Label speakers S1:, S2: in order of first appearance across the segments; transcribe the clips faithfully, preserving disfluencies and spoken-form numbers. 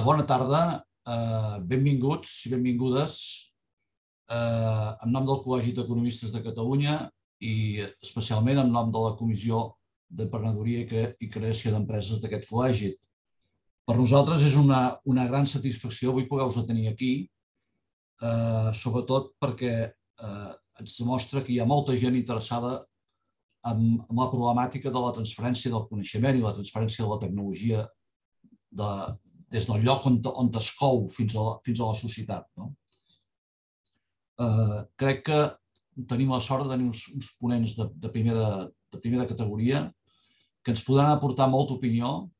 S1: Bona tarda, benvinguts i benvingudes en nom del Col·legi d'Economistes de Catalunya i especialment en nom de la Comissió d'Emprenedoria i Creació d'Empreses d'aquest col·legi. Per nosaltres és una gran satisfacció avui poder-vos tenir aquí, sobretot perquè ens demostra que hi ha molta gent interessada en la problemàtica de la transferència del coneixement i la transferència de la tecnologia des del lloc on es cou fins a la societat. Crec que tenim la sort de tenir uns ponents de primera categoria que ens podran aportar molta opinió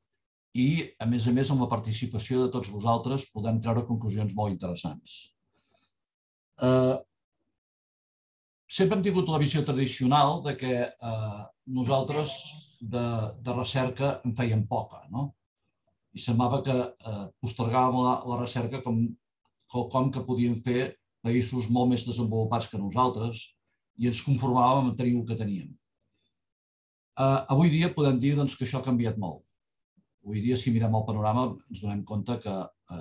S1: i, a més a més, amb la participació de tots vosaltres podem treure conclusions molt interessants. Sempre hem tingut la visió tradicional que nosaltres de recerca en fèiem poca, i semblava que postergàvem la recerca com quelcom que podien fer països molt més desenvolupats que nosaltres i ens conformàvem a tenir el que teníem. Avui dia podem dir que això ha canviat molt. Avui dia, si mirem el panorama, ens donem compte que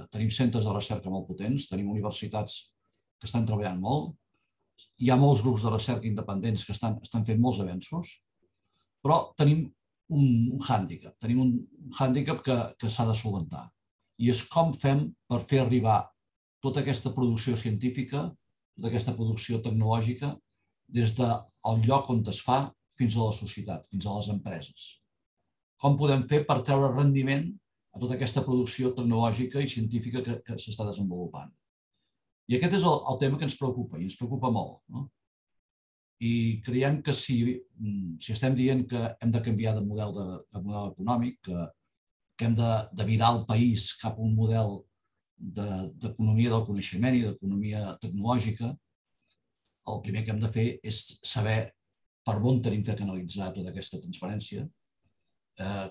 S1: tenim centres de recerca molt potents, tenim universitats que estan treballant molt, hi ha molts grups de recerca independents que estan fent molts avenços, però tenim un hàndicap, tenim un hàndicap que s'ha de solucionar. I és com fem per fer arribar tota aquesta producció científica, tota aquesta producció tecnològica, des del lloc on es fa fins a la societat, fins a les empreses. Com podem fer per treure rendiment a tota aquesta producció tecnològica i científica que s'està desenvolupant. I aquest és el tema que ens preocupa, i ens preocupa molt. I creiem que si estem dient que hem de canviar de model econòmic, que hem de virar el país cap a un model d'economia del coneixement i d'economia tecnològica, el primer que hem de fer és saber per on hem de canalitzar tota aquesta transferència,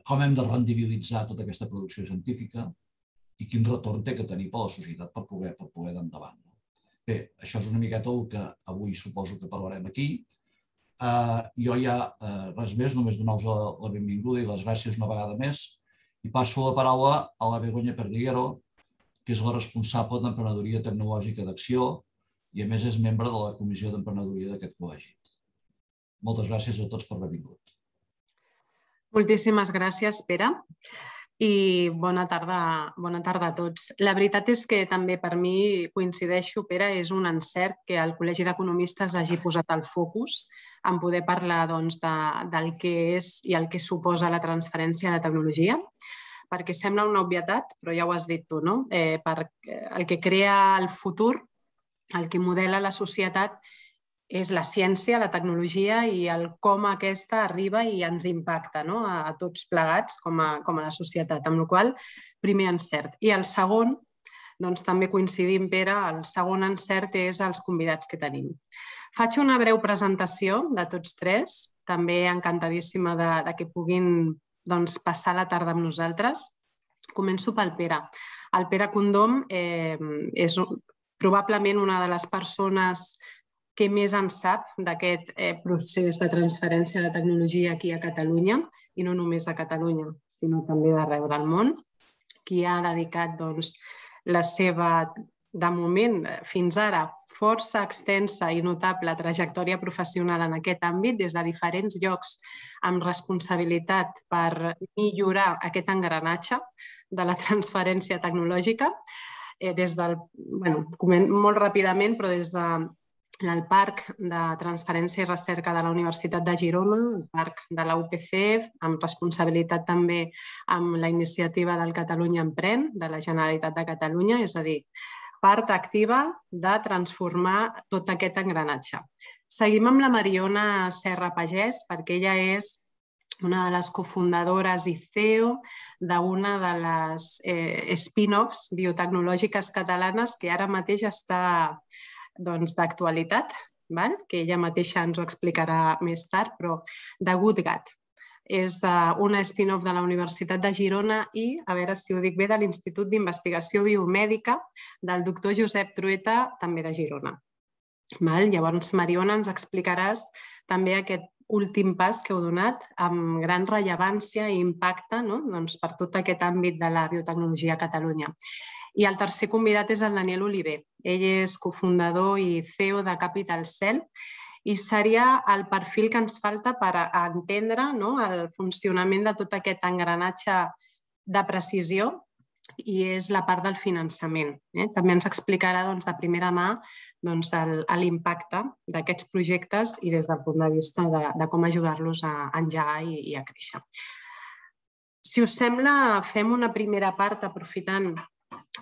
S1: com hem de rendibilitzar tota aquesta producció científica i quin retorn té que tenir per a la societat per poder anar endavant. Bé, això és una miqueta el que avui suposo que parlarem aquí. Jo ja, res més, només donar-vos la benvinguda i les gràcies una vegada més i passo la paraula a la Begoña Perdiguero, que és la responsable d'Emprenedoria Tecnològica d'Acció i a més és membre de la Comissió d'Emprenedoria d'aquest col·legi. Moltes gràcies a tots per haver vingut.
S2: Moltíssimes gràcies, Pere. I bona tarda a tots. La veritat és que també per mi, coincideixo, Pere, és un encert que el Col·legi d'Economistes hagi posat el focus en poder parlar del que és i el que suposa la transferència de tecnologia, perquè sembla una obvietat, però ja ho has dit tu, no? El que crea el futur, el que modela la societat, és la ciència, la tecnologia i el com aquesta arriba i ens impacta a tots plegats com a la societat, amb la qual cosa, primer encert. I el segon, doncs també coincidim, Pere, el segon encert és els convidats que tenim. Faig una breu presentació de tots tres, també encantadíssima que puguin passar la tarda amb nosaltres. Començo pel Pere. El Pere Condom és probablement una de les persones que més en sap d'aquest procés de transferència de tecnologia aquí a Catalunya, i no només a Catalunya, sinó també d'arreu del món, qui ha dedicat la seva, de moment, fins ara, força extensa i notable trajectòria professional en aquest àmbit, des de diferents llocs amb responsabilitat per millorar aquest engranatge de la transferència tecnològica, molt ràpidament, però des de el Parc de Transferència i Recerca de la Universitat de Girona, el Parc de la U P C, amb responsabilitat també amb la iniciativa del Catalunya Emprèn, de la Generalitat de Catalunya, és a dir, part activa de transformar tot aquest engranatge. Seguim amb la Mariona Serra Pagès, perquè ella és una de les cofundadores i C E O d'una de les spin-offs biotecnològiques catalanes que ara mateix està d'actualitat, que ella mateixa ens ho explicarà més tard, però de GoodGat. És una spin-off de la Universitat de Girona i, a veure si ho dic bé, de l'Institut d'Investigació Biomèdica del doctor Josep Trueta, també de Girona. Llavors, Mariona, ens explicaràs també aquest últim pas que heu donat amb gran rellevància i impacte per tot aquest àmbit de la biotecnologia a Catalunya. I el tercer convidat és el Daniel Oliver. Ell és cofundador i C E O de Capital Cell i seria el perfil que ens falta per entendre el funcionament de tot aquest engranatge de precisió i és la part del finançament. També ens explicarà de primera mà l'impacte d'aquests projectes i des del punt de vista de com ajudar-los a engegar i a créixer. Si us sembla, fem una primera part aprofitant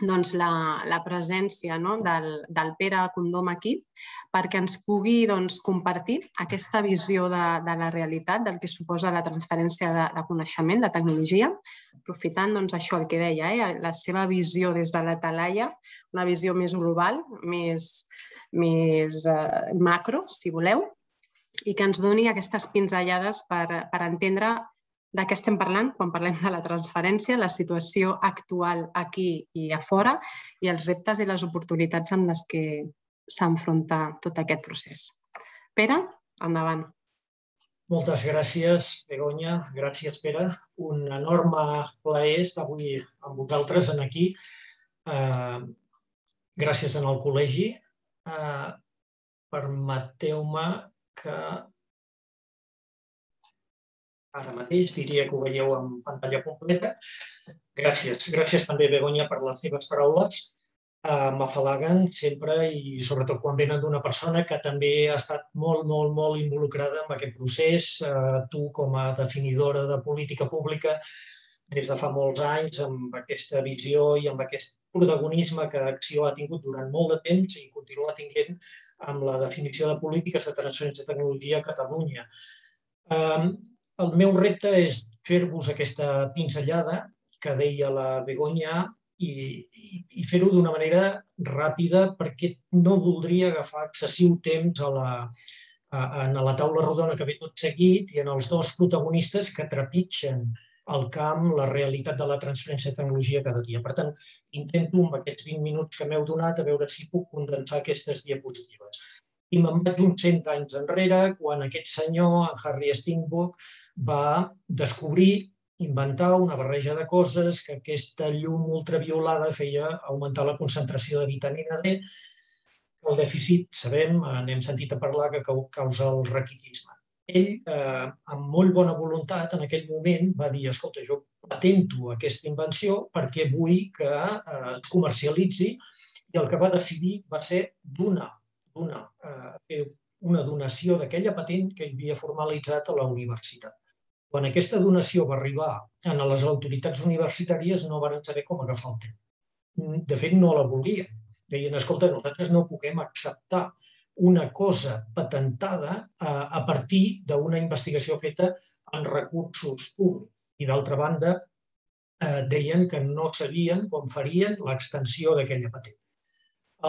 S2: la presència del Pere Condom aquí perquè ens pugui compartir aquesta visió de la realitat, del que suposa la transferència de coneixement, de tecnologia, aprofitant això el que deia, la seva visió des de la talaia, una visió més global, més macro, si voleu, i que ens doni aquestes pinzellades per entendre de què estem parlant quan parlem de la transferència, la situació actual aquí i a fora i els reptes i les oportunitats amb les que s'enfronta tot aquest procés. Pere, endavant.
S3: Moltes gràcies, Begoña. Gràcies, Pere. Un enorme plaer estar avui amb vosaltres aquí. Gràcies al col·legi. Permeteu-me que ara mateix diria que ho veieu en pantalla completa. Gràcies. Gràcies també, Begoña, per les teves paraules. M'afalaguen sempre i sobretot quan venen d'una persona que també ha estat molt, molt, molt involucrada en aquest procés. Tu, com a definidora de política pública, des de fa molts anys, amb aquesta visió i amb aquest protagonisme que Acció ha tingut durant molt de temps i continua tinguent amb la definició de polítiques de transferència de tecnologia a Catalunya. El meu repte és fer-vos aquesta pinzellada que deia la Begoña i fer-ho d'una manera ràpida perquè no voldria agafar excessiu temps a la taula rodona que ve tot seguit i en els dos protagonistes que trepitgen el camp, la realitat de la transferència de tecnologia cada dia. Per tant, intento amb aquests vint minuts que m'heu donat a veure si puc condensar aquestes diapositives. I me'n vaig uns cent anys enrere, quan aquest senyor, en Harry Steinbock, va descobrir, inventar una barreja de coses, que aquesta llum ultraviolada feia augmentar la concentració de vitamina D, que el dèficit, sabem, n'hem sentit a parlar, que causa el raquitisme. Ell, amb molt bona voluntat, en aquell moment va dir, escolta, jo patento aquesta invenció perquè vull que es comercialitzi i el que va decidir va ser donar una donació d'aquella patent que havia formalitzat a la universitat. Quan aquesta donació va arribar a les autoritats universitàries no van saber com agafar el tema. De fet, no la volien. Deien, escolta, nosaltres no puguem acceptar una cosa patentada a partir d'una investigació feta amb recursos públics. I d'altra banda, deien que no sabien com farien l'extensió d'aquella patent.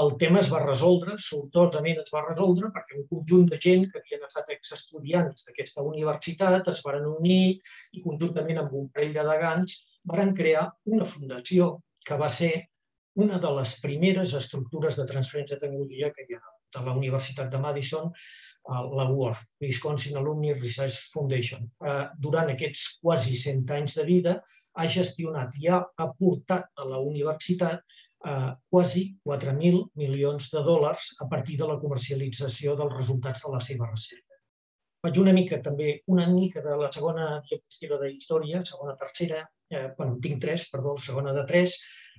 S3: El tema es va resoldre, sortosament es va resoldre, perquè un conjunt de gent que havien estat exestudiants d'aquesta universitat es van unir i conjuntament amb un parell de degans van crear una fundació que va ser una de les primeres estructures de transferència de tecnologia que hi ha a la Universitat de Madison, la W A R F, Wisconsin Alumni Research Foundation. Durant aquests quasi cent anys de vida ha gestionat i ha aportat a la universitat quasi quatre mil milions de dòlars a partir de la comercialització dels resultats de la seva recerca. Faig una mica també, una mica de la segona diapositiva de història, segona, tercera, bueno, en tinc tres, perdó, la segona de tres,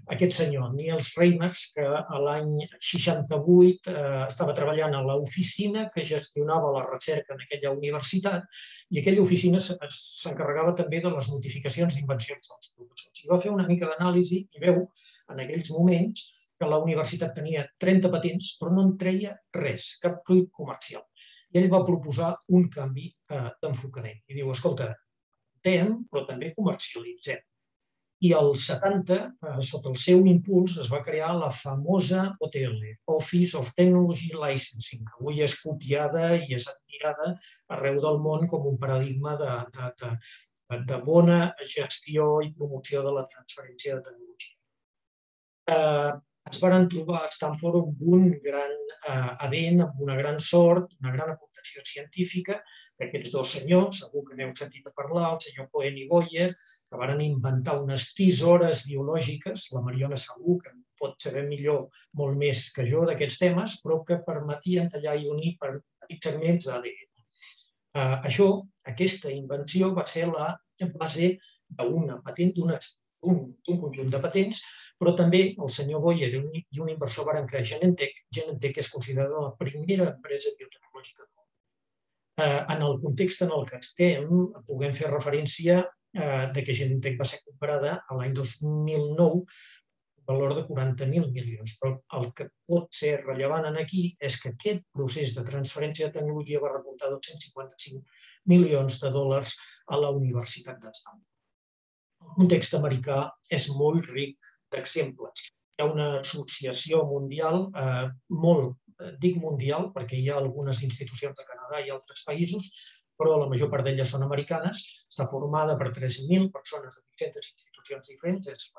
S3: aquest senyor, Niels Reimers, que l'any seixanta-vuit estava treballant a l'oficina que gestionava la recerca en aquella universitat i aquella oficina s'encarregava també de les notificacions d'invencions dels professors. I va fer una mica d'anàlisi i veu en aquells moments que la universitat tenia trenta patents però no en treia res, cap fruit comercial. I ell va proposar un canvi d'enfocament. I diu, escolta, patentem però també comercialitzem. I als setanta, sota el seu impuls, es va crear la famosa O T L, Office of Technology Licensing, que avui és copiada i és admirada arreu del món com un paradigma de bona gestió i promoció de la transferència de tecnologia. Ens van trobar a Stanford amb un gran event, amb una gran sort, una gran aportació científica, d'aquests dos senyors, segur que n'heu sentit a parlar, el senyor Cohen i Boyer, que van inventar unes tisores biològiques, la Mariona segur que pot saber millor molt més que jo d'aquests temes, però que permetien tallar i unir per petits segments d'A D N. Això, aquesta invenció va ser la base d'una patent, d'un conjunt de patents, però també el senyor Boyer i un inversor van crear Genentech. Genentech és considerada la primera empresa biotecnològica del món. En el context en el que estem, puguem fer referència que Genentech va ser comprada l'any dos mil nou per valor de quaranta mil milions. Però el que pot ser rellevant aquí és que aquest procés de transferència de tecnologia va reportar dos-cents cinquanta-cinc milions de dòlars a la Universitat de Stanford. El context americà és molt ric d'exemples. Hi ha una associació mundial, molt, dic mundial, perquè hi ha algunes institucions de Canadà i altres països, però la major part d'elles són americanes, està formada per tres mil persones de vuit-centes institucions diferents, és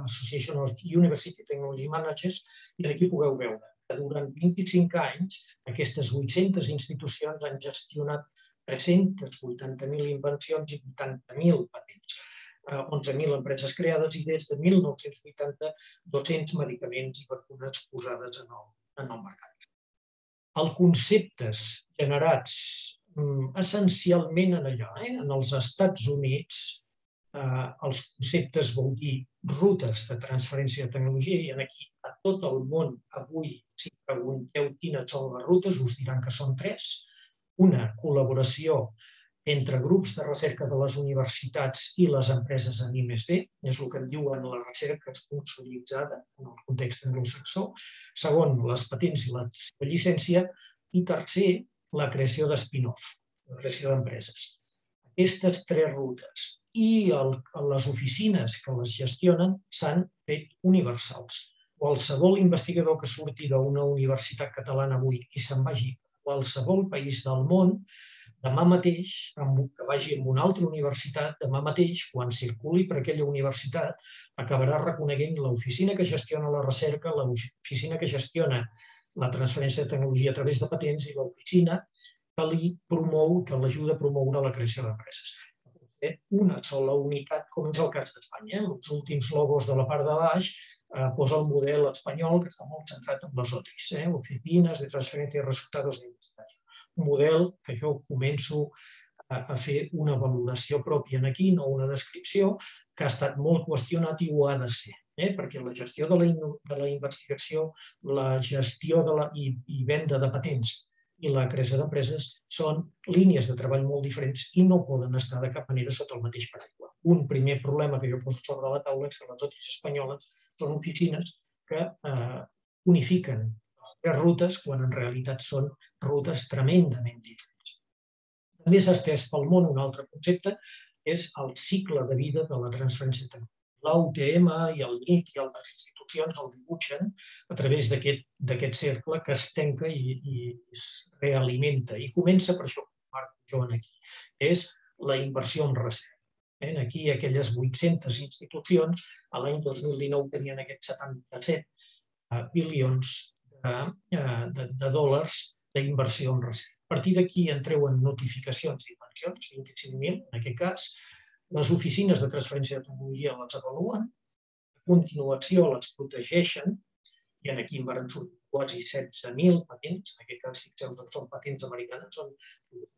S3: Association of University Technology Managers, i aquí podeu veure que durant vint-i-cinc anys aquestes vuit-centes institucions han gestionat tres-cents vuitanta mil invencions i vuitanta mil patents, onze mil empreses creades i des de mil nou-cents vuitanta dos-cents medicaments i vacunes posades en el mercat. Els conceptes generats essencialment en allà, en els Estats Units, els conceptes vol dir rutes de transferència de tecnologia, i aquí a tot el món avui, si pregunteu quines són les rutes, us diran que són tres. Una, col·laboració entre grups de recerca de les universitats i les empreses en I més D, és el que en diuen la recerca esponsoritzada en el context anglosaxó. Segon, les patents i la llicència. I tercer, la creació de spin-off, la creació d'empreses. Aquestes tres rutes i les oficines que les gestionen s'han fet universals. Qualsevol investigador que surti d'una universitat catalana avui i se'n vagi a qualsevol país del món, demà mateix, que vagi a una altra universitat, demà mateix, quan circuli per aquella universitat, acabarà reconeguent l'oficina que gestiona la recerca, l'oficina que gestiona la transferència de tecnologia a través de patents i l'oficina que li promou, que l'ajuda a promoure la creació d'empreses. Una sola unitat, com és el cas d'Espanya. Els últims logos de la part de baix posa el model espanyol, que està molt centrat en les O T Is, Oficines de Transferència de Resultados de Investigació. Un model que jo començo a fer una valoració pròpia aquí, no una descripció, que ha estat molt qüestionat i ho ha de ser, perquè la gestió de la investigació, la gestió i venda de patents i la creació d'empreses són línies de treball molt diferents i no poden estar de cap manera sota el mateix paraigua. Un primer problema que jo poso sobre la taula és que les O T Is espanyoles són oficines que unifiquen les tres rutes quan en realitat són rutes tremendament diferents. També s'ha estès pel món un altre concepte, és el cicle de vida de la transferència tecnològica. L'A U T M i el N I C i altres institucions el dibuixen a través d'aquest cercle que es tanca i es realimenta. I comença, per això ho marco jo aquí, és la inversió en recerca. Aquí aquelles vuit-centes institucions l'any dos mil dinou tenien aquests setanta-set bilions de dòlars d'inversió en recerca. A partir d'aquí en treuen notificacions d'inversions, vint-i-cinc mil en aquest cas. Les oficines de transferència de tecnologia les avaluen, a continuació les protegeixen, i aquí en van sortir quasi setze mil patents, en aquest cas fixeu-vos que són patents americanes, són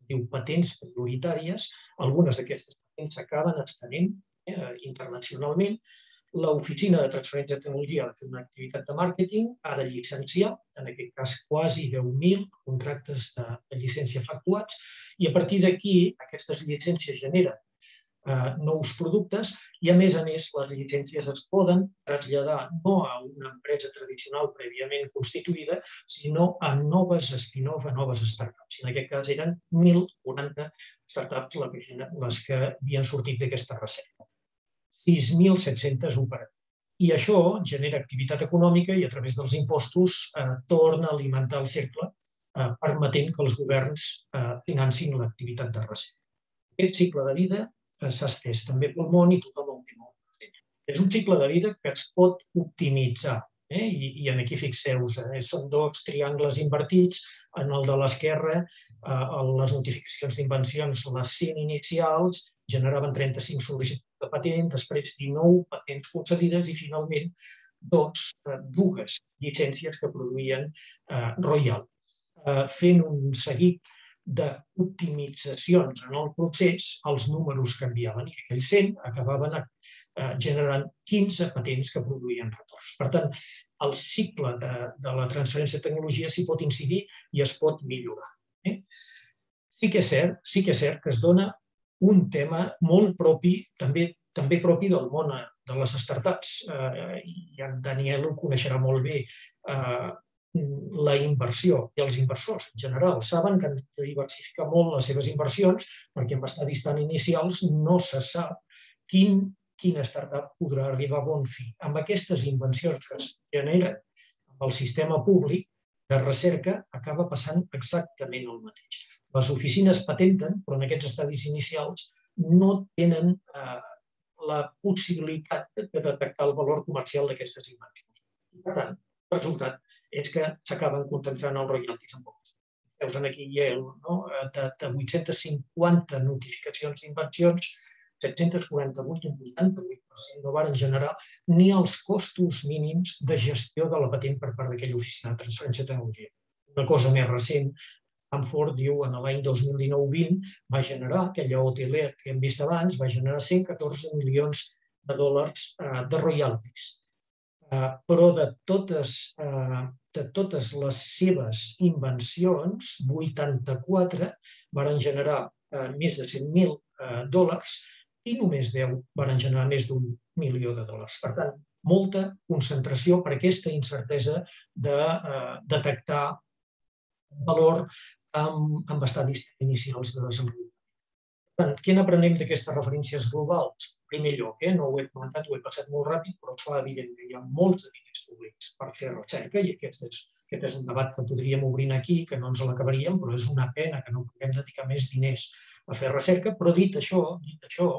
S3: diu patents prioritàries, algunes d'aquestes patents s'acaben estenent internacionalment. L'oficina de transferència de tecnologia ha de fer una activitat de màrqueting, ha de llicenciar, en aquest cas quasi deu mil contractes de llicència efectuats, i a partir d'aquí aquestes llicències generen nous productes i, a més a més, les llicències es poden traslladar no a una empresa tradicional prèviament constituïda, sinó a noves spin-off, a noves startups. En aquest cas eren mil quaranta startups les que havien sortit d'aquesta recerca. sis mil set-centes operatives. I això genera activitat econòmica i a través dels impostos torna a alimentar el cercle, permetent que els governs financin l'activitat de recerca. Aquest cicle de vida s'ha estès també pel món i tothom ho té molt present. És un cicle de vida que es pot optimitzar. I aquí fixeu-vos, són dos triangles invertits. En el de l'esquerra, les notificacions d'invencions, les cent inicials, generaven trenta-cinc sol·licituds de patent, després dinou patents concedides i finalment dues llicències que produïen royalties. Fent un seguit d'optimitzacions en el procés, els números canviaven i aquells cent acabaven generant quinze patents que produïen retorns. Per tant, el cicle de la transferència de tecnologia s'hi pot incidir i es pot millorar. Sí que és cert, sí que és cert que es dona un tema molt propi, també propi del món de les startups. I en Daniel ho coneixerà molt bé. La inversió i els inversors en general saben que han de diversificar molt les seves inversions perquè amb estadis tan inicials no se sap quina startup podrà arribar a bon fi. Amb aquestes invencions que es generen amb el sistema públic de recerca acaba passant exactament el mateix. Les oficines patenten, però en aquests estadis inicials no tenen la possibilitat de detectar el valor comercial d'aquestes invencions. Per tant, el resultat és que s'acaben concentrant els royalties en pocs. Veus aquí Yale, de vuit-centes cinquanta notificacions d'invencions, set-cents quaranta-vuit, un vuitanta-vuit per cent, no van generar ni els costos mínims de gestió de la patent per part d'aquella oficina de transferència de tecnologia. Una cosa més recent, Stanford diu en l'any dos mil dinou vint va generar, aquella O T L que hem vist abans, va generar cent catorze milions de dòlars de royalties. Però de totes les seves invencions, vuitanta-quatre van generar més de cent mil dòlars i només deu van generar més d'un milió de dòlars. Per tant, molta concentració per aquesta incertesa de detectar valor amb estadis inicials de desenvolupament. Per tant, què n'aprenem d'aquestes referències globals? En primer lloc, no ho he comentat, ho he passat molt ràpid, però es fa evident que hi ha molts diners públics per fer recerca i aquest és un debat que podríem obrir aquí, que no ens l'acabaríem, però és una pena que no puguem dedicar més diners a fer recerca. Però dit això, dit això,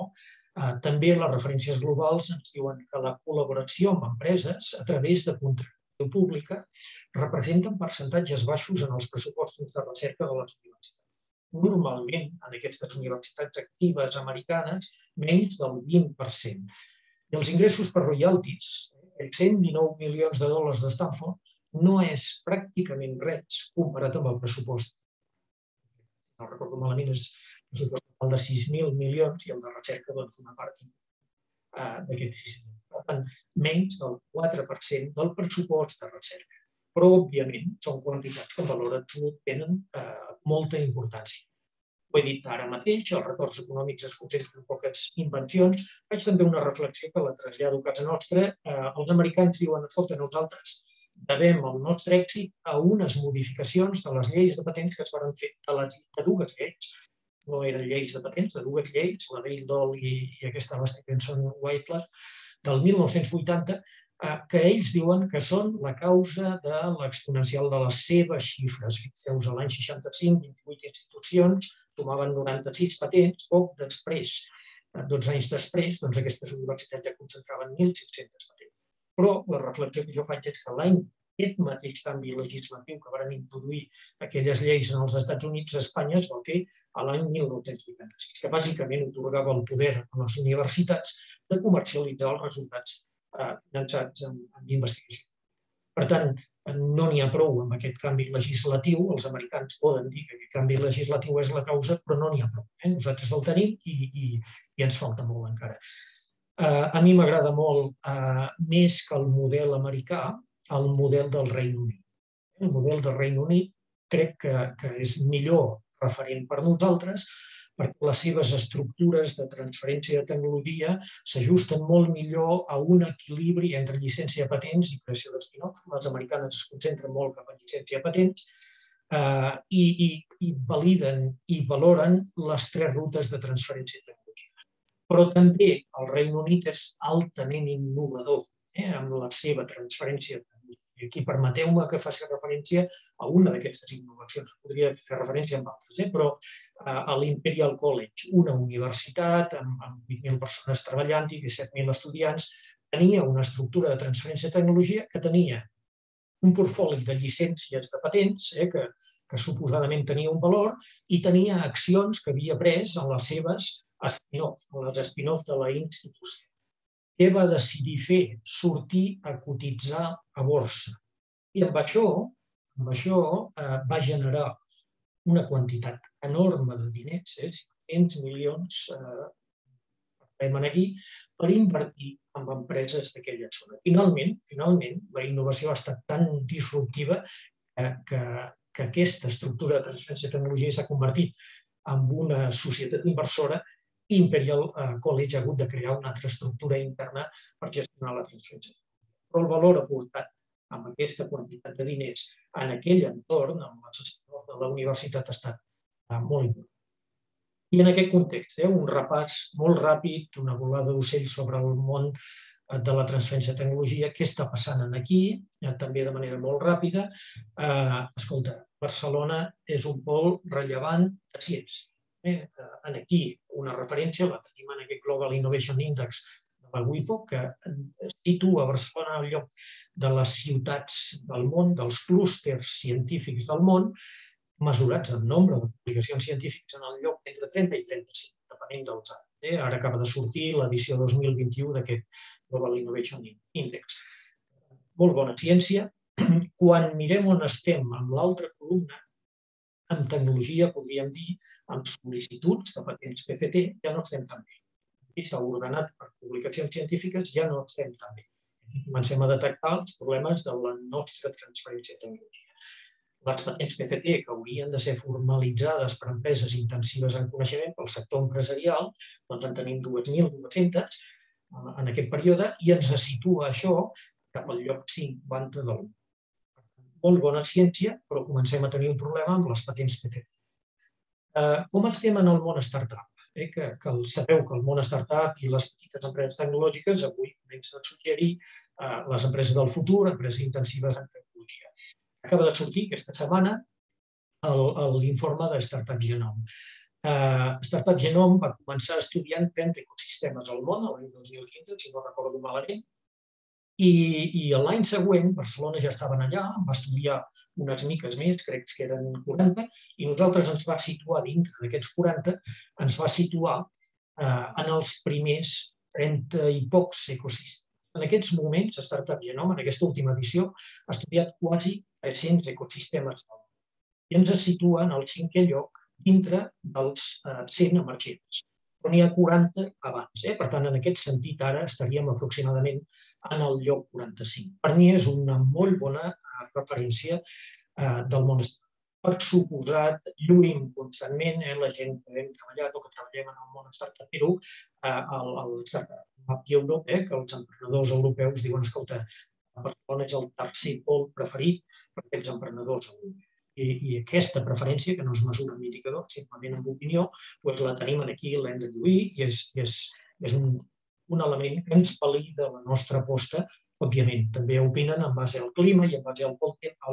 S3: també les referències globals ens diuen que la col·laboració amb empreses a través de contractació pública representen percentatges baixos en els pressupostos de recerca de les universitats. Normalment, en aquestes universitats actives americanes, menys del vint per cent. I els ingressos per royalties, els cent dinou milions de dòlars de Stanford, no és pràcticament res comparat amb el pressupost. No recordo malament, és el pressupost de sis mil milions i el de recerca una part d'aquests sis mil. Per tant, menys del quatre per cent del pressupost de recerca. Però, òbviament, són quantitats que en valor absolut tenen molta importància. Ho he dit ara mateix, els retorns econòmics es concentren en poques invencions. Faig també una reflexió que la trasllado a casa nostra. Els americans diuen, escolta, nosaltres devem el nostre èxit a unes modificacions de les lleis de patents que es van fer, de dues lleis, no eren lleis de patents, de dues lleis, la Bayh-Dole i aquesta de Stevenson-Whitler, del mil nou-cents vuitanta, que ells diuen que són la causa de l'exponencial de les seves xifres. Fixeu-vos, a l'any seixanta-cinc, vint-i-vuit institucions sumaven noranta-sis patents, poc després, dotze anys després, aquestes universitats ja concentraven mil cinc-centes patents. Però la reflexió que jo faig és que l'any aquest mateix canvi legislatiu que van introduir aquelles lleis en els Estats Units, a Espanya es va fer a l'any mil nou-cents vuitanta-sis, que bàsicament atorgava el poder a les universitats de comercialitzar els resultats finançats en investigació. Per tant, no n'hi ha prou amb aquest canvi legislatiu. Els americans poden dir que aquest canvi legislatiu és la causa, però no n'hi ha prou. Nosaltres el tenim i ens falta molt encara. A mi m'agrada molt, més que el model americà, el model del Regne Unit. El model del Regne Unit crec que és millor referent per nosaltres, perquè les seves estructures de transferència de tecnologia s'ajusten molt millor a un equilibri entre llicència de patents i creació d'espin-off. Les americanes es concentren molt cap a llicència de patents i validen i valoren les tres rutes de transferència de tecnologia. Però també el Regne Unit és altament innovador amb la seva transferència de tecnologia. I aquí permeteu-me que faci referència a una d'aquestes innovacions. Podria fer referència a altres, però a l'Imperial College, una universitat amb vuit mil persones treballant i disset mil estudiants, tenia una estructura de transferència de tecnologia que tenia un portfoli de llicències de patents que, que suposadament tenia un valor i tenia accions que havia pres en les seves spin-off, en les spin-off de la institució. Què va decidir fer? Sortir a cotitzar a borsa. I amb això, amb això eh, va generar una quantitat enorme de diners, eh, cinc-cents milions eh, aquí, per invertir en empreses d'aquella zona. Finalment, finalment, la innovació ha estat tan disruptiva que, que, que aquesta estructura de transferència de tecnologia s'ha convertit en una societat inversora i Imperial College ha hagut de crear una altra estructura interna per gestionar la transferència. Però el valor aportat amb aquesta quantitat de diners en aquell entorn, amb les escoles de la universitat, ha estat molt important. I en aquest context, un repàs molt ràpid, una volada d'ocell sobre el món de la transferència de tecnologia, què està passant aquí, també de manera molt ràpida. Escolta, Barcelona és un pol rellevant de ciència. Aquí una referència, la tenim en aquest Global Innovation Index de la WIPO, que situa Barcelona al lloc de les ciutats del món, dels clústers científics del món, mesurats en nombre de publicacions científiques en el lloc entre trenta i trenta-cinc, depenent dels anys. Ara acaba de sortir l'edició dos mil vint-i-u d'aquest Global Innovation Index. Molt bona ciència. Quan mirem on estem amb l'altra columna, en tecnologia, podríem dir, amb sol·licituds de patents P C T, ja no estem tan bé. Aquí està ordenat per publicacions científiques, ja no estem tan bé. Comencem a detectar els problemes de la nostra transferència de tecnologia. Les patents P C T, que haurien de ser formalitzades per empreses intensives en coneixement pel sector empresarial, doncs en tenim dues mil dues-centes en aquest període i ens situa això cap al lloc cinquanta de l'u. Molt bona ciència, però comencem a tenir un problema amb les patents P C T. Com estem en el món startup? Sabeu que el món startup i les petites empreses tecnològiques avui comencen a suggerir les empreses del futur, empreses intensives en tecnologia. Acaba de sortir aquesta setmana l'informe de Startup Genome. Startup Genome va començar estudiant trenta ecosistemes al món l'any dos mil quinze, si no recordo malament, i l'any següent Barcelona ja estaven allà, va estudiar unes miques més, crec que eren quaranta, i nosaltres ens va situar dintre d'aquests quaranta, ens va situar en els primers trenta i pocs ecosistemes. En aquests moments, Startup Genome, en aquesta última edició, ha estudiat quasi tres-cents ecosistemes i ens situa en el cinquè lloc dintre dels cent emergents. Però n'hi ha quaranta abans. Per tant, en aquest sentit, ara estaríem aproximadament en el lloc quaranta-cinc. Per mi és una molt bona referència del món startup. Per suposat, lluïm constantment la gent que hem treballat o que treballem en el món startupero, el Startup Europe, que els emprenedors europeus diuen, escolta, Barcelona és el tercer pol preferit per aquests emprenedors europeus. I aquesta preferència, que no es mesura amb indicadors, simplement amb opinió, la tenim aquí, l'hem de lluir i és un element que ens valida la nostra aposta. Òbviament, també opinen en base al clima i en base al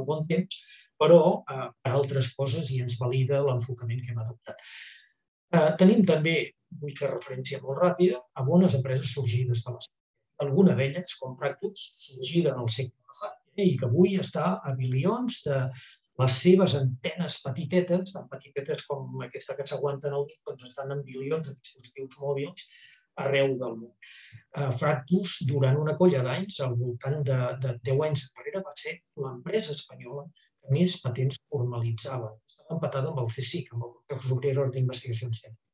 S3: bon temps, però per altres coses i ens valida l'enfocament que hem adoptat. Tenim també, vull fer referència molt ràpida, a bones empreses sorgides de l'estat. Alguna d'elles, com Practus, sorgida en el segle passat i que avui està a bilions de les seves antenes petitetes, tan petitetes com aquesta que s'aguanten al dit, doncs estan en bilions de dispositius mòbils arreu del món. Fractus, durant una colla d'anys, al voltant de deu anys enrere, va ser l'empresa espanyola que més patents formalitzava. Estava empatada amb el C S I C, amb el Consejo Superior d'Investigacions Científiques.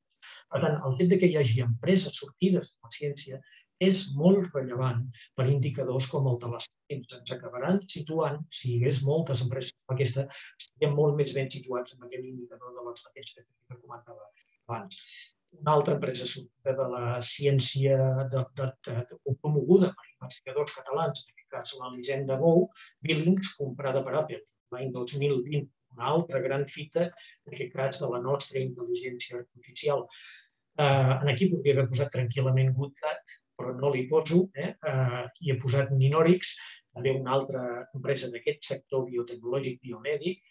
S3: Per tant, el fet que hi hagi empreses sortides de la ciència és molt rellevant per indicadors com el de les patents. Ens acabaran situant, si hi hagués moltes empreses com aquesta, estaríem molt més ben situats en aquell indicador de les patents que comentava abans. Una altra empresa sortida de la ciència promoguda per investigadors catalans, en aquest cas l'Elisenda Bou, Billings, comprada per Apple l'any dos mil vint, una altra gran fita, en aquest cas de la nostra intel·ligència artificial. Aquí podria haver posat tranquil·lament GoodCat, però no l'hi poso, i he posat Ninorix, també una altra empresa d'aquest sector biotecnològic biomèdic.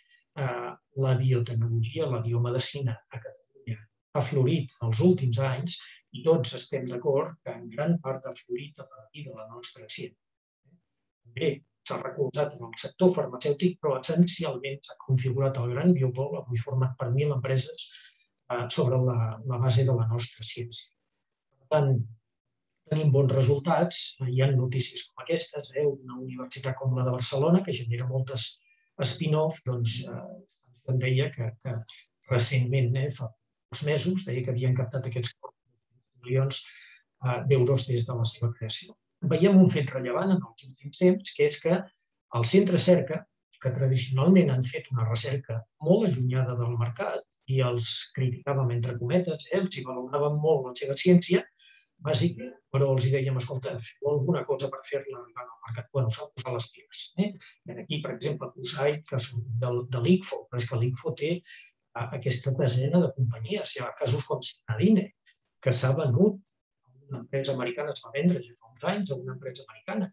S3: La biotecnologia, la biomedicina a Catalunya ha florit els últims anys i tots estem d'acord que en gran part ha florit a partir de la nostra ciència. També s'ha recolzat en el sector farmacèutic, però essencialment s'ha configurat el gran biopol, avui format per mil empreses, sobre la base de la nostra ciència. Per tant, tenim bons resultats, hi ha notícies com aquestes, una universitat com la de Barcelona, que genera moltes spin-off, doncs em deia que recentment, fa uns mesos, deia que havien captat aquests milions d'euros des de la seva creació. Veiem un fet rellevant en els últims temps, que és que el centre cerca, que tradicionalment han fet una recerca molt allunyada del mercat i els criticàvem entre cometes, els hi valoràvem molt la seva ciència bàsica, però els dèiem, escolta, feu alguna cosa per fer-la arribar al mercat. Bé, s'ha de posar les piles. I aquí, per exemple, Q S A I D, que són de l'I C F O, però és que l'I C F O té aquesta desena de companyies. Hi ha casos com Sinadine, que s'ha venut a una empresa americana, es va vendre ja fa uns anys a una empresa americana.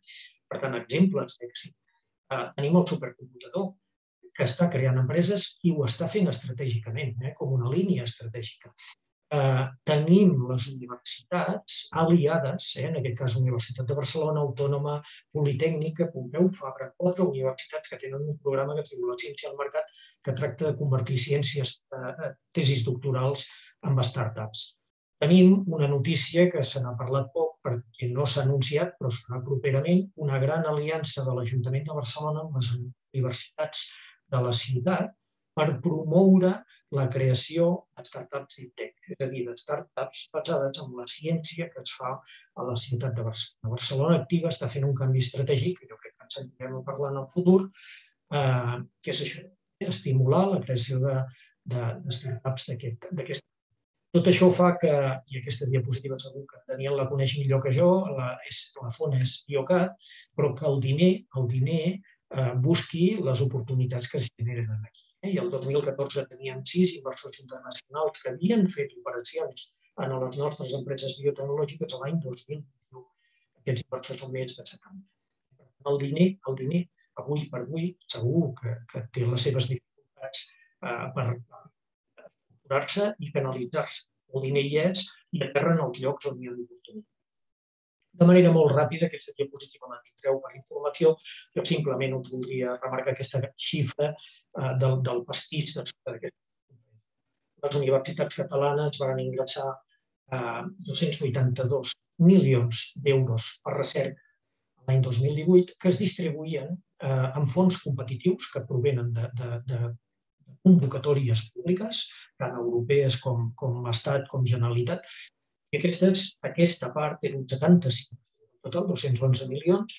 S3: Per tant, exemples d'èxit. Tenim el supercomputador, que està creant empreses i ho està fent estratègicament, com una línia estratègica. Tenim les universitats aliades, en aquest cas Universitat de Barcelona, Autònoma, Politècnica, Pompeu Fabra, quatre universitats que tenen un programa que es diu La ciència al mercat, que tracta de convertir ciències, tesis doctorals en startups. Tenim una notícia que se n'ha parlat poc perquè no s'ha anunciat, però serà properament, una gran aliança de l'Ajuntament de Barcelona amb les universitats de la ciutat per promoure la creació de startups d'ITEC, és a dir, de startups basades en la ciència que es fa a la ciutat de Barcelona. Barcelona Activa està fent un canvi estratègic, que jo crec que ens sentirem a parlar en el futur, que és això, estimular la creació de startups d'aquesta. Tot això fa que, i aquesta diapositiva segur que Daniel la coneix millor que jo, la font és Biocat, però que el diner, el diner busqui les oportunitats que es generen aquí. I el dos mil catorze teníem sis inversors internacionals que havien fet operacions en les nostres empreses biotecnològiques a l'any dos mil vint-i-u. Aquests inversors són més de setanta. El diner, el diner, avui per avui, segur que té les seves dificultats per estructurar-se i canalitzar-se. El diner hi és i aterren els llocs on hi ha l'oportunitat. De manera molt ràpida, aquesta diapositiva la tindreu per informació, jo simplement us voldria remarcar aquesta xifra del pastís d'aquesta. Les universitats catalanes van ingressar dos-cents vuitanta-dos milions d'euros per recerca l'any dos mil divuit, que es distribuïen en fons competitius que provenen de convocatòries públiques, tant europees com Estat, com Generalitat. I aquesta part era un setanta-cinc, total dos-cents onze milions,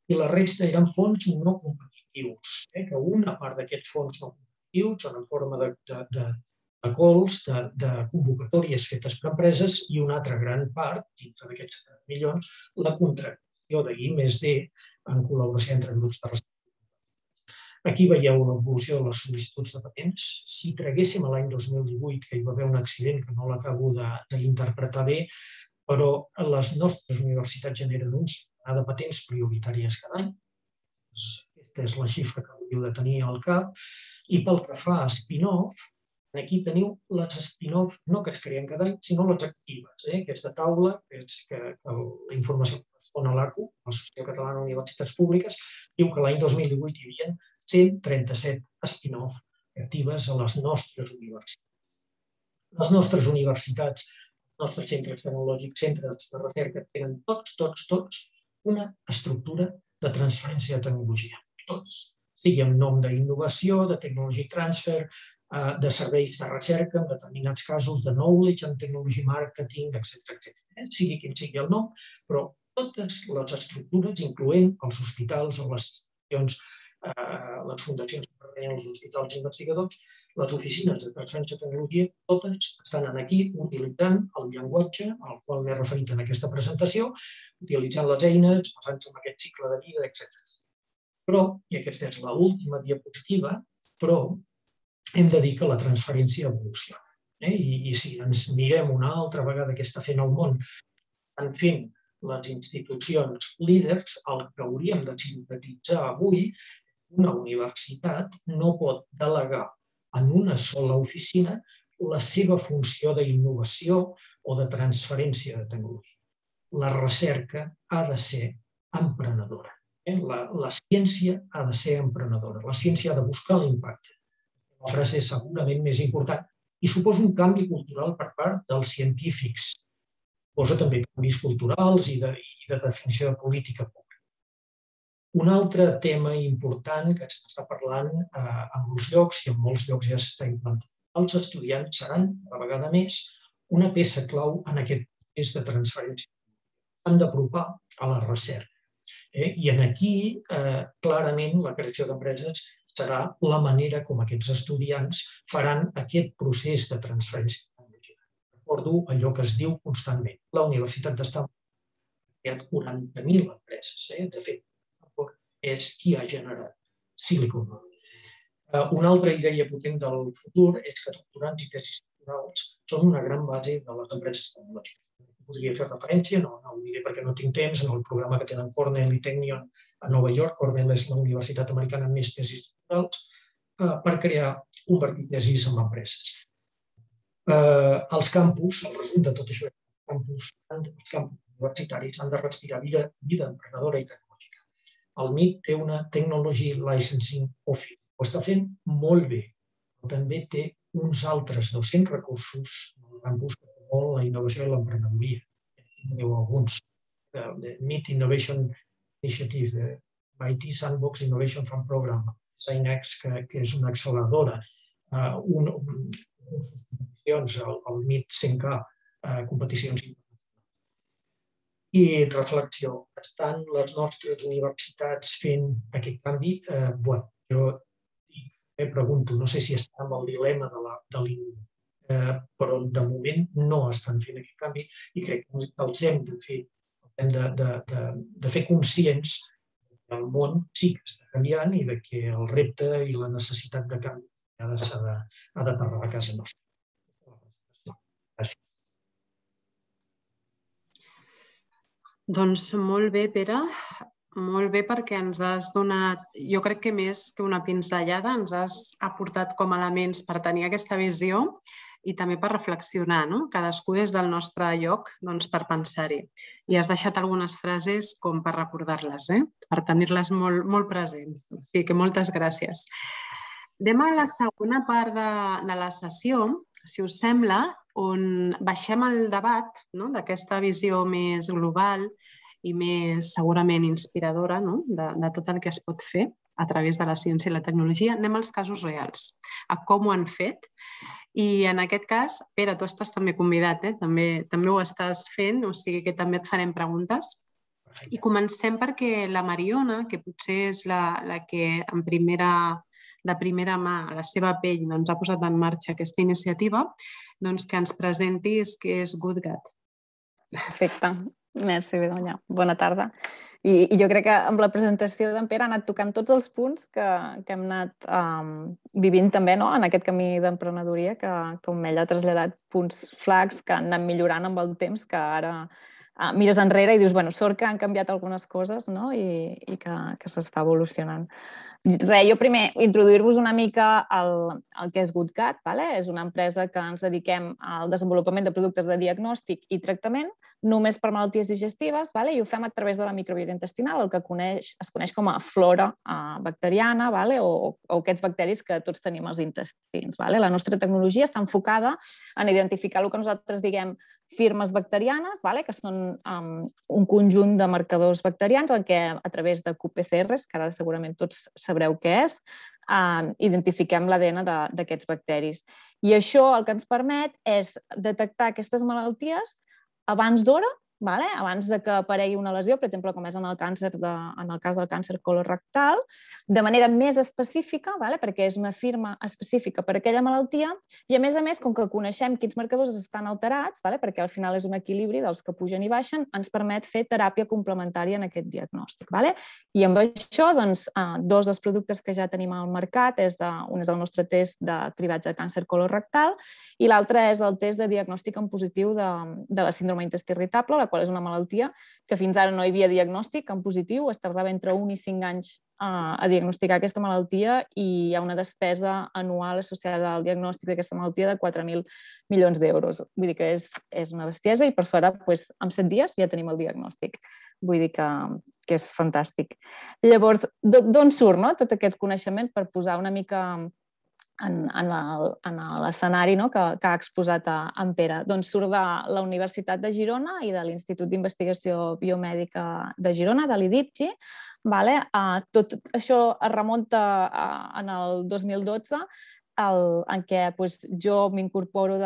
S3: i la resta eren fons no competitius, que una part d'aquests fons no competitius són en forma de cols, de convocatòries fetes per empreses, i una altra gran part, dintre d'aquests milions, la contractació de I més D en col·laboració entre grups de recerca. Aquí veieu una evolució de les sol·licituds de patents. Si traguéssim l'any dos mil divuit, que hi va haver un accident que no l'acabo d'interpretar bé, però les nostres universitats generen un centenar de patents prioritàries cada any. Aquesta és la xifra que hauríeu de tenir al cap. I pel que fa a spin-off, aquí teniu les spin-off, no que es creen cada any, sinó les actives. Aquesta taula, que és la informació que correspon a l'A C U, l'Associació Catalana d'Universitats Públiques, diu que l'any dos mil divuit hi havia cent trenta-set spin-off actives a les nostres universitats. Les nostres universitats, els nostres centres tecnològics, centres de recerca, tenen tots, tots, tots una estructura de transferència de tecnologia. Tots. Sigui amb nom d'innovació, de technology transfer, de serveis de recerca, en determinats casos de knowledge and technology marketing, etcètera. Sigui quin sigui el nom, però totes les estructures, incloent els hospitals o les institucions, les fundacions que pertanyen als hospitals investigadors, les oficines de transferència de tecnologia, totes estan aquí utilitzant el llenguatge al qual m'he referit en aquesta presentació, utilitzant les eines, basant-se en aquest cicle de vida, etcètera. Però, i aquesta és l'última diapositiva, però hem de dir que la transferència evoluciona. I si ens mirem una altra vegada què està fent el món, estan fent les institucions líders, el que hauríem de sintetitzar avui, una universitat no pot delegar en una sola oficina la seva funció d'innovació o de transferència de tecnologia. La recerca ha de ser emprenedora. La ciència ha de ser emprenedora, la ciència ha de buscar l'impacte. La frase és segurament més important i suposa un canvi cultural per part dels científics. Suposa també canvis culturals i de definició de política pública. Un altre tema important que s'està parlant en molts llocs i en molts llocs ja s'està implantant. Els estudiants seran, a la vegada més, una peça clau en aquest procés de transferència. S'han d'apropar a la recerca. I aquí, clarament, la creació d'empreses serà la manera com aquests estudiants faran aquest procés de transferència tecnològica. Recordo allò que es diu constantment. La Universitat d'Stanford ha creat quaranta mil empreses. De fet, és qui ha generat Silicon Valley. Una altra idea potent del futur és que doctorants i tesis doctorals són una gran base de les empreses tecnològiques. Podria fer referència, no ho diré perquè no tinc temps, en el programa que tenen Cornell i Technion a Nova York. Cornell és la universitat americana amb més tesis doctorals per crear, convertir tesis en empreses. Els campus, el resum de tot això, els campus universitaris han de respirar vida emprenedora i tecnològica. El M I T té una Technology Licensing Office, ho està fent molt bé, però també té uns altres dos-cents recursos al campus que promouen la innovació i l'emprenedoria. Teniu alguns. M I T Innovation Initiative, I T Sandbox Innovation Fund Program, SciNext, que és una acceleradora, competicions, el M I T cent K, competicions internacionals. I reflexió, estan les nostres universitats fent aquest canvi? Jo em pregunto, no sé si estan amb el dilema de l'I N E, però de moment no estan fent aquest canvi i crec que els hem de fer, hem de fer conscients que el món sí que està canviant i que el repte i la necessitat de canvi ha d'aterrar a casa nostra. Gràcies.
S2: Doncs molt bé, Pere. Molt bé, perquè ens has donat, jo crec que més que una pinzellada, ens has aportat com a elements per tenir aquesta visió i també per reflexionar, cadascú des del nostre lloc per pensar-hi. I has deixat algunes frases com per recordar-les, per tenir-les molt presents. O sigui que moltes gràcies. Anem a la segona part de la sessió, si us sembla, on baixem el debat d'aquesta visió més global i més segurament inspiradora de tot el que es pot fer a través de la ciència i la tecnologia. Anem als casos reals, a com ho han fet. I en aquest cas, Pere, tu estàs també convidat, també ho estàs fent, o sigui que també et farem preguntes. I comencem perquè la Mariona, que potser és la que en primera de primera mà, a la seva pell, ha posat en marxa aquesta iniciativa, doncs que ens presentis què és GoodGat.
S4: Perfecte. Merci, Begoña. Bona tarda. I jo crec que amb la presentació d'en Pere ha anat tocant tots els punts que hem anat vivint també en aquest camí d'emprenedoria, que com ell ha traslladat punts flacs que han anat millorant amb el temps, que ara mires enrere i dius, bueno, sort que han canviat algunes coses i que s'està evolucionant. Res, jo primer introduir-vos una mica el que és GoodGat. És una empresa que ens dediquem al desenvolupament de productes de diagnòstic i tractament només per malalties digestives i ho fem a través de la microbiota intestinal, el que es coneix com a flora bacteriana o aquests bacteris que tots tenim als intestins. La nostra tecnologia està enfocada en identificar el que nosaltres diguem firmes bacterianes, que són un conjunt de marcadors bacterians en què a través de Q P C Rs, que ara segurament tots sabreu què és, identifiquem l'A D N d'aquests bacteris. I això el que ens permet és detectar aquestes malalties abans d'hora, abans que aparegui una lesió, per exemple, com és en el cas del càncer colorectal, de manera més específica, perquè és una firma específica per a aquella malaltia, i a més a més, com que coneixem quins marcadors estan alterats, perquè al final és un equilibri dels que pugen i baixen, ens permet fer teràpia complementària en aquest diagnòstic. I amb això, dos dels productes que ja tenim al mercat, un és el nostre test de cribatge de càncer colorectal i l'altre és el test de diagnòstic en positiu de la síndrome intestí irritable, la qual és una malaltia, que fins ara no hi havia diagnòstic en positiu, es tardava entre un i cinc anys a diagnosticar aquesta malaltia i hi ha una despesa anual associada al diagnòstic d'aquesta malaltia de quatre mil milions d'euros. Vull dir que és una bestiesa i per sort en set dies ja tenim el diagnòstic. Vull dir que és fantàstic. Llavors, d'on surt tot aquest coneixement per posar una mica en l'escenari que ha exposat en Pere? Doncs surt de la Universitat de Girona i de l'Institut d'Investigació Biomèdica de Girona, de l'I D I P G I. Tot això es remunta en el dos mil dotze, en què jo m'incorporo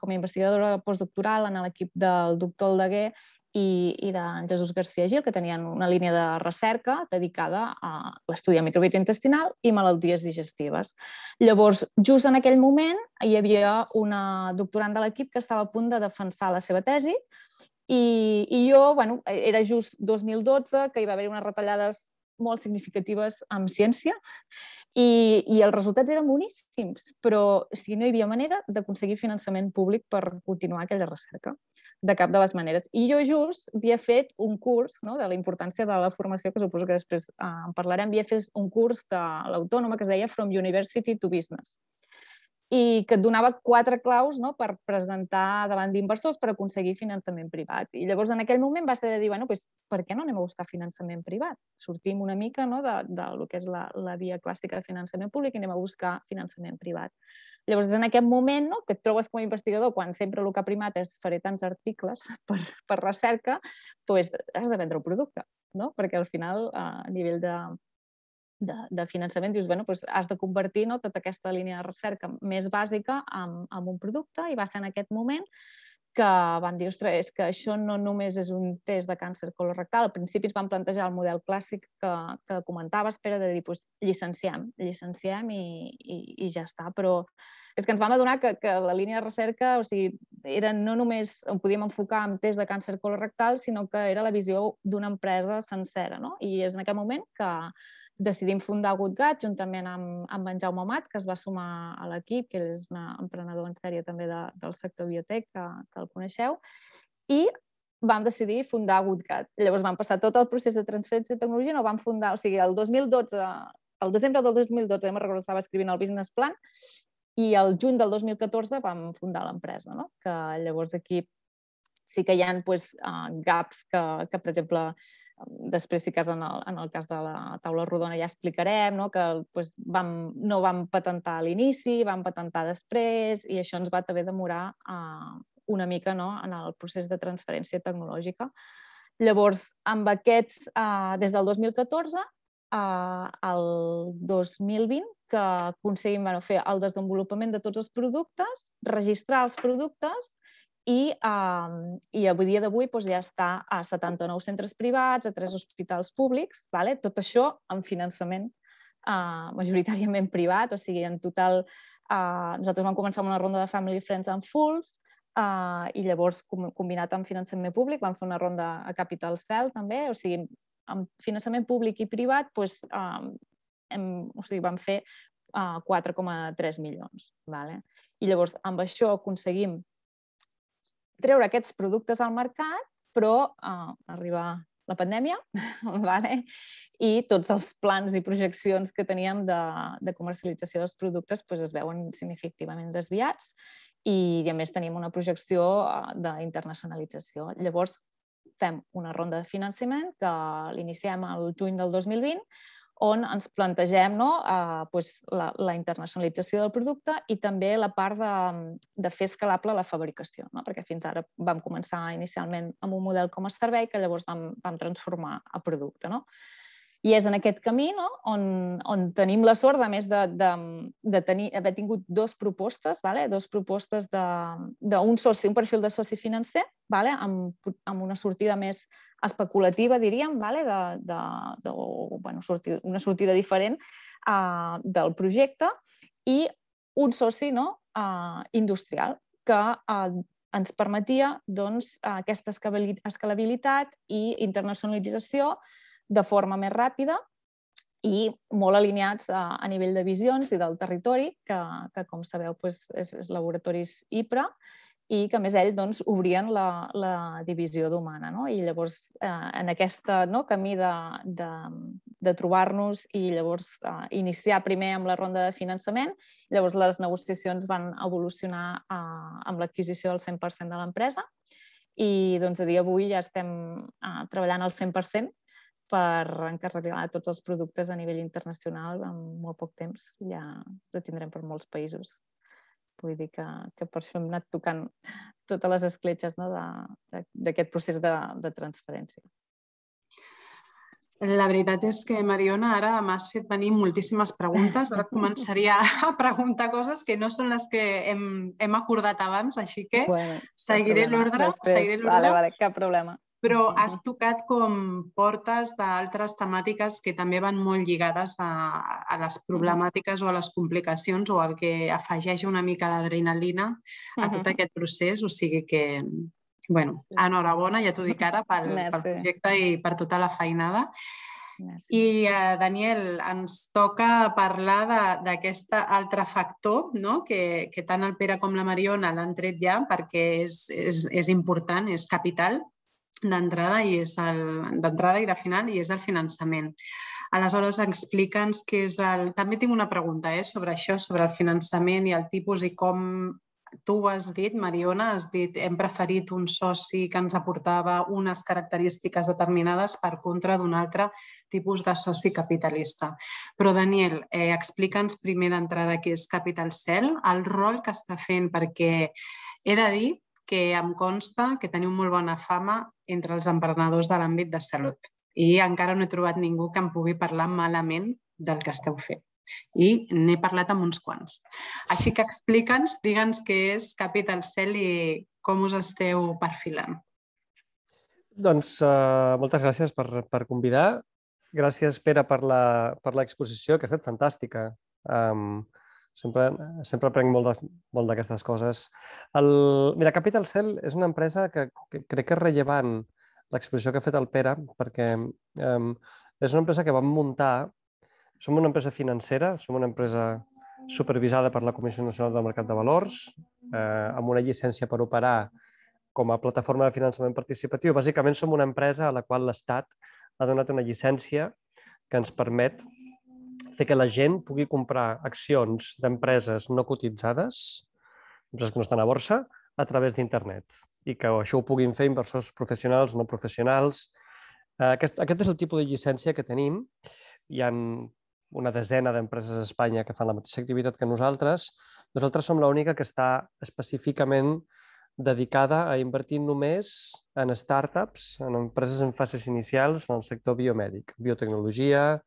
S4: com a investigadora postdoctoral en l'equip del doctor Aldeguer i d'en Jesús García Gil, que tenien una línia de recerca dedicada a l'estudi de microbiota intestinal i malalties digestives. Llavors, just en aquell moment, hi havia una doctorand de l'equip que estava a punt de defensar la seva tesi i jo, bueno, era just dos mil dotze, que hi va haver unes retallades molt significatives en ciència i els resultats eren boníssims, però no hi havia manera d'aconseguir finançament públic per continuar aquella recerca, de cap de les maneres. I jo just havia fet un curs de la importància de la formació, que suposo que després en parlarem, havia fet un curs de l'Autònoma que es deia From University to Business i que et donava quatre claus per presentar davant d'inversors per aconseguir finançament privat. I llavors en aquell moment va ser de dir, bueno, per què no anem a buscar finançament privat? Sortim una mica del que és la via clàssica de finançament públic i anem a buscar finançament privat. Llavors és en aquest moment que et trobes com a investigador, quan sempre el que ha primat és faré tants articles per recerca, doncs has de vendre un producte, perquè al final a nivell de de finançament, dius, bueno, doncs has de convertir tota aquesta línia de recerca més bàsica en un producte i va ser en aquest moment que vam dir, ostres, és que això no només és un test de càncer colorectal. Al principi ens vam plantejar el model clàssic que comentaves, Pere, de dir, doncs llicenciem, llicenciem i ja està. Però és que ens vam adonar que la línia de recerca, o sigui, no només ho podíem enfocar en test de càncer colorectal, sinó que era la visió d'una empresa sencera. I és en aquest moment que decidim fundar GoodGut juntament amb en Jaume Amat, que es va sumar a l'equip, que és un emprenedor en sèrie també del sector biotec, que el coneixeu, i vam decidir fundar GoodGut. Llavors vam passar tot el procés de transferència de tecnologia, no vam fundar, o sigui, el dos mil dotze, el desembre del dos mil dotze, me'n recordo, estava escrivint el business plan, i el juny del dos mil catorze vam fundar l'empresa, que llavors aquí sí que hi ha gaps que, per exemple, després sí que en el cas de la taula rodona ja explicarem, que no vam patentar a l'inici, vam patentar després i això ens va haver de demorar una mica en el procés de transferència tecnològica. Llavors, amb aquests, des del dos mil catorze al dos mil vint, que aconseguim fer el desenvolupament de tots els productes, registrar els productes i avui dia d'avui ja està a setanta-nou centres privats, a tres hospitals públics, tot això amb finançament majoritàriament privat, o sigui, en total nosaltres vam començar amb una ronda de Family Friends and Fools i llavors combinat amb finançament públic vam fer una ronda a Capital Cell també, o sigui, amb finançament públic i privat vam fer quatre coma tres milions. I llavors amb això aconseguim treure aquests productes al mercat, però arriba la pandèmia i tots els plans i projeccions que teníem de comercialització dels productes es veuen significativament desviats i a més tenim una projecció d'internacionalització. Llavors fem una ronda de finançament que l'iniciem el juny del dos mil vint on ens plantegem la internacionalització del producte i també la part de fer escalable la fabricació, perquè fins ara vam començar inicialment amb un model com a servei que llavors vam transformar a producte. I és en aquest camí on tenim la sort, a més d'haver tingut dues propostes, dues propostes d'un soci, un perfil de soci financer, amb una sortida més especulativa, diríem, una sortida diferent del projecte i un soci industrial que ens permetia aquesta escalabilitat i internacionalització de forma més ràpida i molt alineats a nivell de visions i del territori, que com sabeu és Laboratoris I P R A, i que, a més, ells doncs, obrien la, la divisió d'humana. No? I llavors, eh, en aquest no, camí de, de, de trobar-nos i llavors eh, iniciar primer amb la ronda de finançament, llavors les negociacions van evolucionar eh, amb l'adquisició del cent per cent de l'empresa i doncs, a dia d'avui ja estem eh, treballant al cent per cent per encarregar tots els productes a nivell internacional en molt poc temps. Ja ho tindrem per molts països. Vull dir que, que per això hem anat tocant totes les escletxes no, d'aquest procés de, de transferència.
S2: La veritat és que, Mariona, ara m'has fet venir moltíssimes preguntes. Ara començaria a preguntar coses que no són les que hem, hem acordat abans, així que
S4: bueno,
S2: seguiré l'ordre.
S4: Vale, vale, cap problema.
S2: Però has tocat com portes d'altres temàtiques que també van molt lligades a, a les problemàtiques o a les complicacions o al que afegeix una mica d'adrenalina a tot aquest procés. O sigui que, bueno, enhorabona, ja t'ho dic ara, pel, pel projecte i per tota la feinada. I, uh, Daniel, ens toca parlar d'aquest altre factor, no? que, que tant el Pere com la Mariona l'han tret ja perquè és, és, és important, és capital d'entrada i és el d'entrada i de final i és el finançament. Aleshores, explica'ns què és el... També tinc una pregunta eh, sobre això, sobre el finançament i el tipus i com tu ho has dit, Mariona, has dit hem preferit un soci que ens aportava unes característiques determinades per contra d'un altre tipus de soci capitalista. Però, Daniel, eh, explica'ns primer d'entrada què és Capital Cell, el rol que està fent, perquè he de dir que em consta que teniu molt bona fama entre els emprenedors de l'àmbit de salut i encara no he trobat ningú que em pugui parlar malament del que esteu fent. I n'he parlat amb uns quants. Així que explica'ns, digue'ns què és Capital Cell i com us esteu perfilant.
S5: Doncs uh, moltes gràcies per, per convidar. Gràcies, Pere, per l'exposició, que ha estat fantàstica. Um, Sempre, sempre aprenc molt d'aquestes coses. El, mira, Capital Cell és una empresa que, que crec que és rellevant l'exposició que ha fet el Pere, perquè um, és una empresa que vam muntar. Som una empresa financera, som una empresa supervisada per la Comissió Nacional del Mercat de Valors, eh, amb una llicència per operar com a plataforma de finançament participatiu. Bàsicament som una empresa a la qual l'Estat ha donat una llicència que ens permet fer que la gent pugui comprar accions d'empreses no cotitzades, empreses que no estan a borsa, a través d'internet. I que això ho puguin fer inversors professionals, no professionals. Aquest, aquest és el tipus de llicència que tenim. Hi ha una desena d'empreses a Espanya que fan la mateixa activitat que nosaltres. Nosaltres som l'única que està específicament dedicada a invertir només en startups, en empreses en fases inicials en el sector biomèdic, biotecnologia,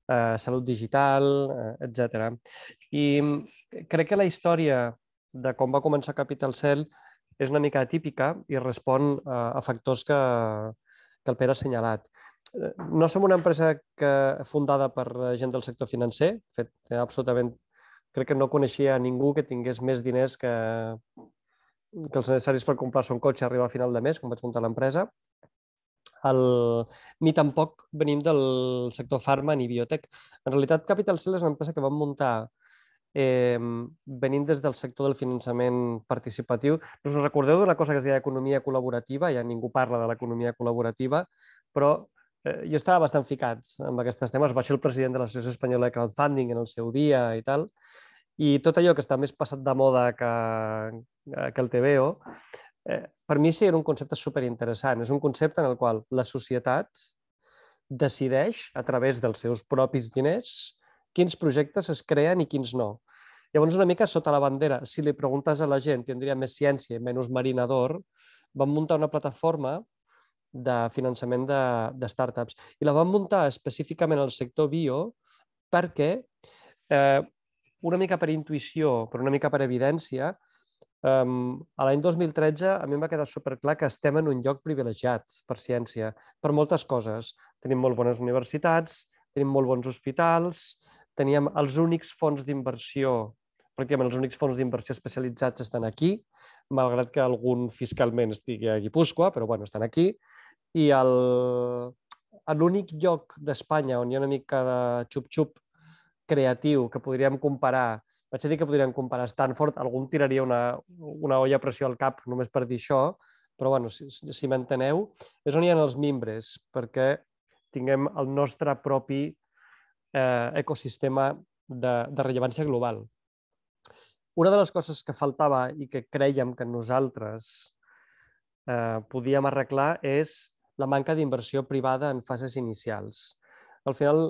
S5: Eh, salut digital, eh, etcètera. I crec que la història de com va començar Capital Cell és una mica atípica i respon a, a factors que, que el Pere ha assenyalat. No som una empresa que, fundada per gent del sector financer. De fet, absolutament, crec que no coneixia ningú que tingués més diners que, que els necessaris per comprar-se un cotxe a arribar a final de mes, quan vaig muntar l'empresa. El... ni tampoc venim del sector farma ni biotec. En realitat, Capital Cell és una empresa que vam muntar eh, venint des del sector del finançament participatiu. Us recordeu d'una cosa que es deia economia col·laborativa? Ja ningú parla de l'economia col·laborativa, però eh, jo estava bastant ficat amb aquests temes. Vaig ser el president de l'Associació Espanyola de Crowdfunding en el seu dia i tal. I tot allò que està més passat de moda que, que el T V O, Eh, per mi sí era un concepte superinteressant. És un concepte en el qual la societat decideix, a través dels seus propis diners, quins projectes es creen i quins no. Llavors, una mica sota la bandera, si li preguntes a la gent, tindria més ciència i menys marinador, vam muntar una plataforma de finançament de, de startups. I la vam muntar específicament al sector bio perquè, eh, una mica per intuïció, però una mica per evidència, Um, a l'any dos mil tretze a mi em va quedar superclar que estem en un lloc privilegiat per ciència, per moltes coses. Tenim molt bones universitats, tenim molt bons hospitals, teníem els únics fons d'inversió, pràcticament els únics fons d'inversió especialitzats estan aquí, malgrat que algun fiscalment estigui a Guipúscoa, però bueno, estan aquí. I l'únic lloc d'Espanya on hi ha una mica de xup-xup creatiu que podríem comparar vaig a dir que podríem comparar Stanford, algú em tiraria una, una olla a pressió al cap només per dir això, però bueno, si, si m'enteneu, és on hi ha els mimbres, perquè tinguem el nostre propi eh, ecosistema de, de rellevància global. Una de les coses que faltava i que creiem que nosaltres eh, podíem arreglar és la manca d'inversió privada en fases inicials. Al final,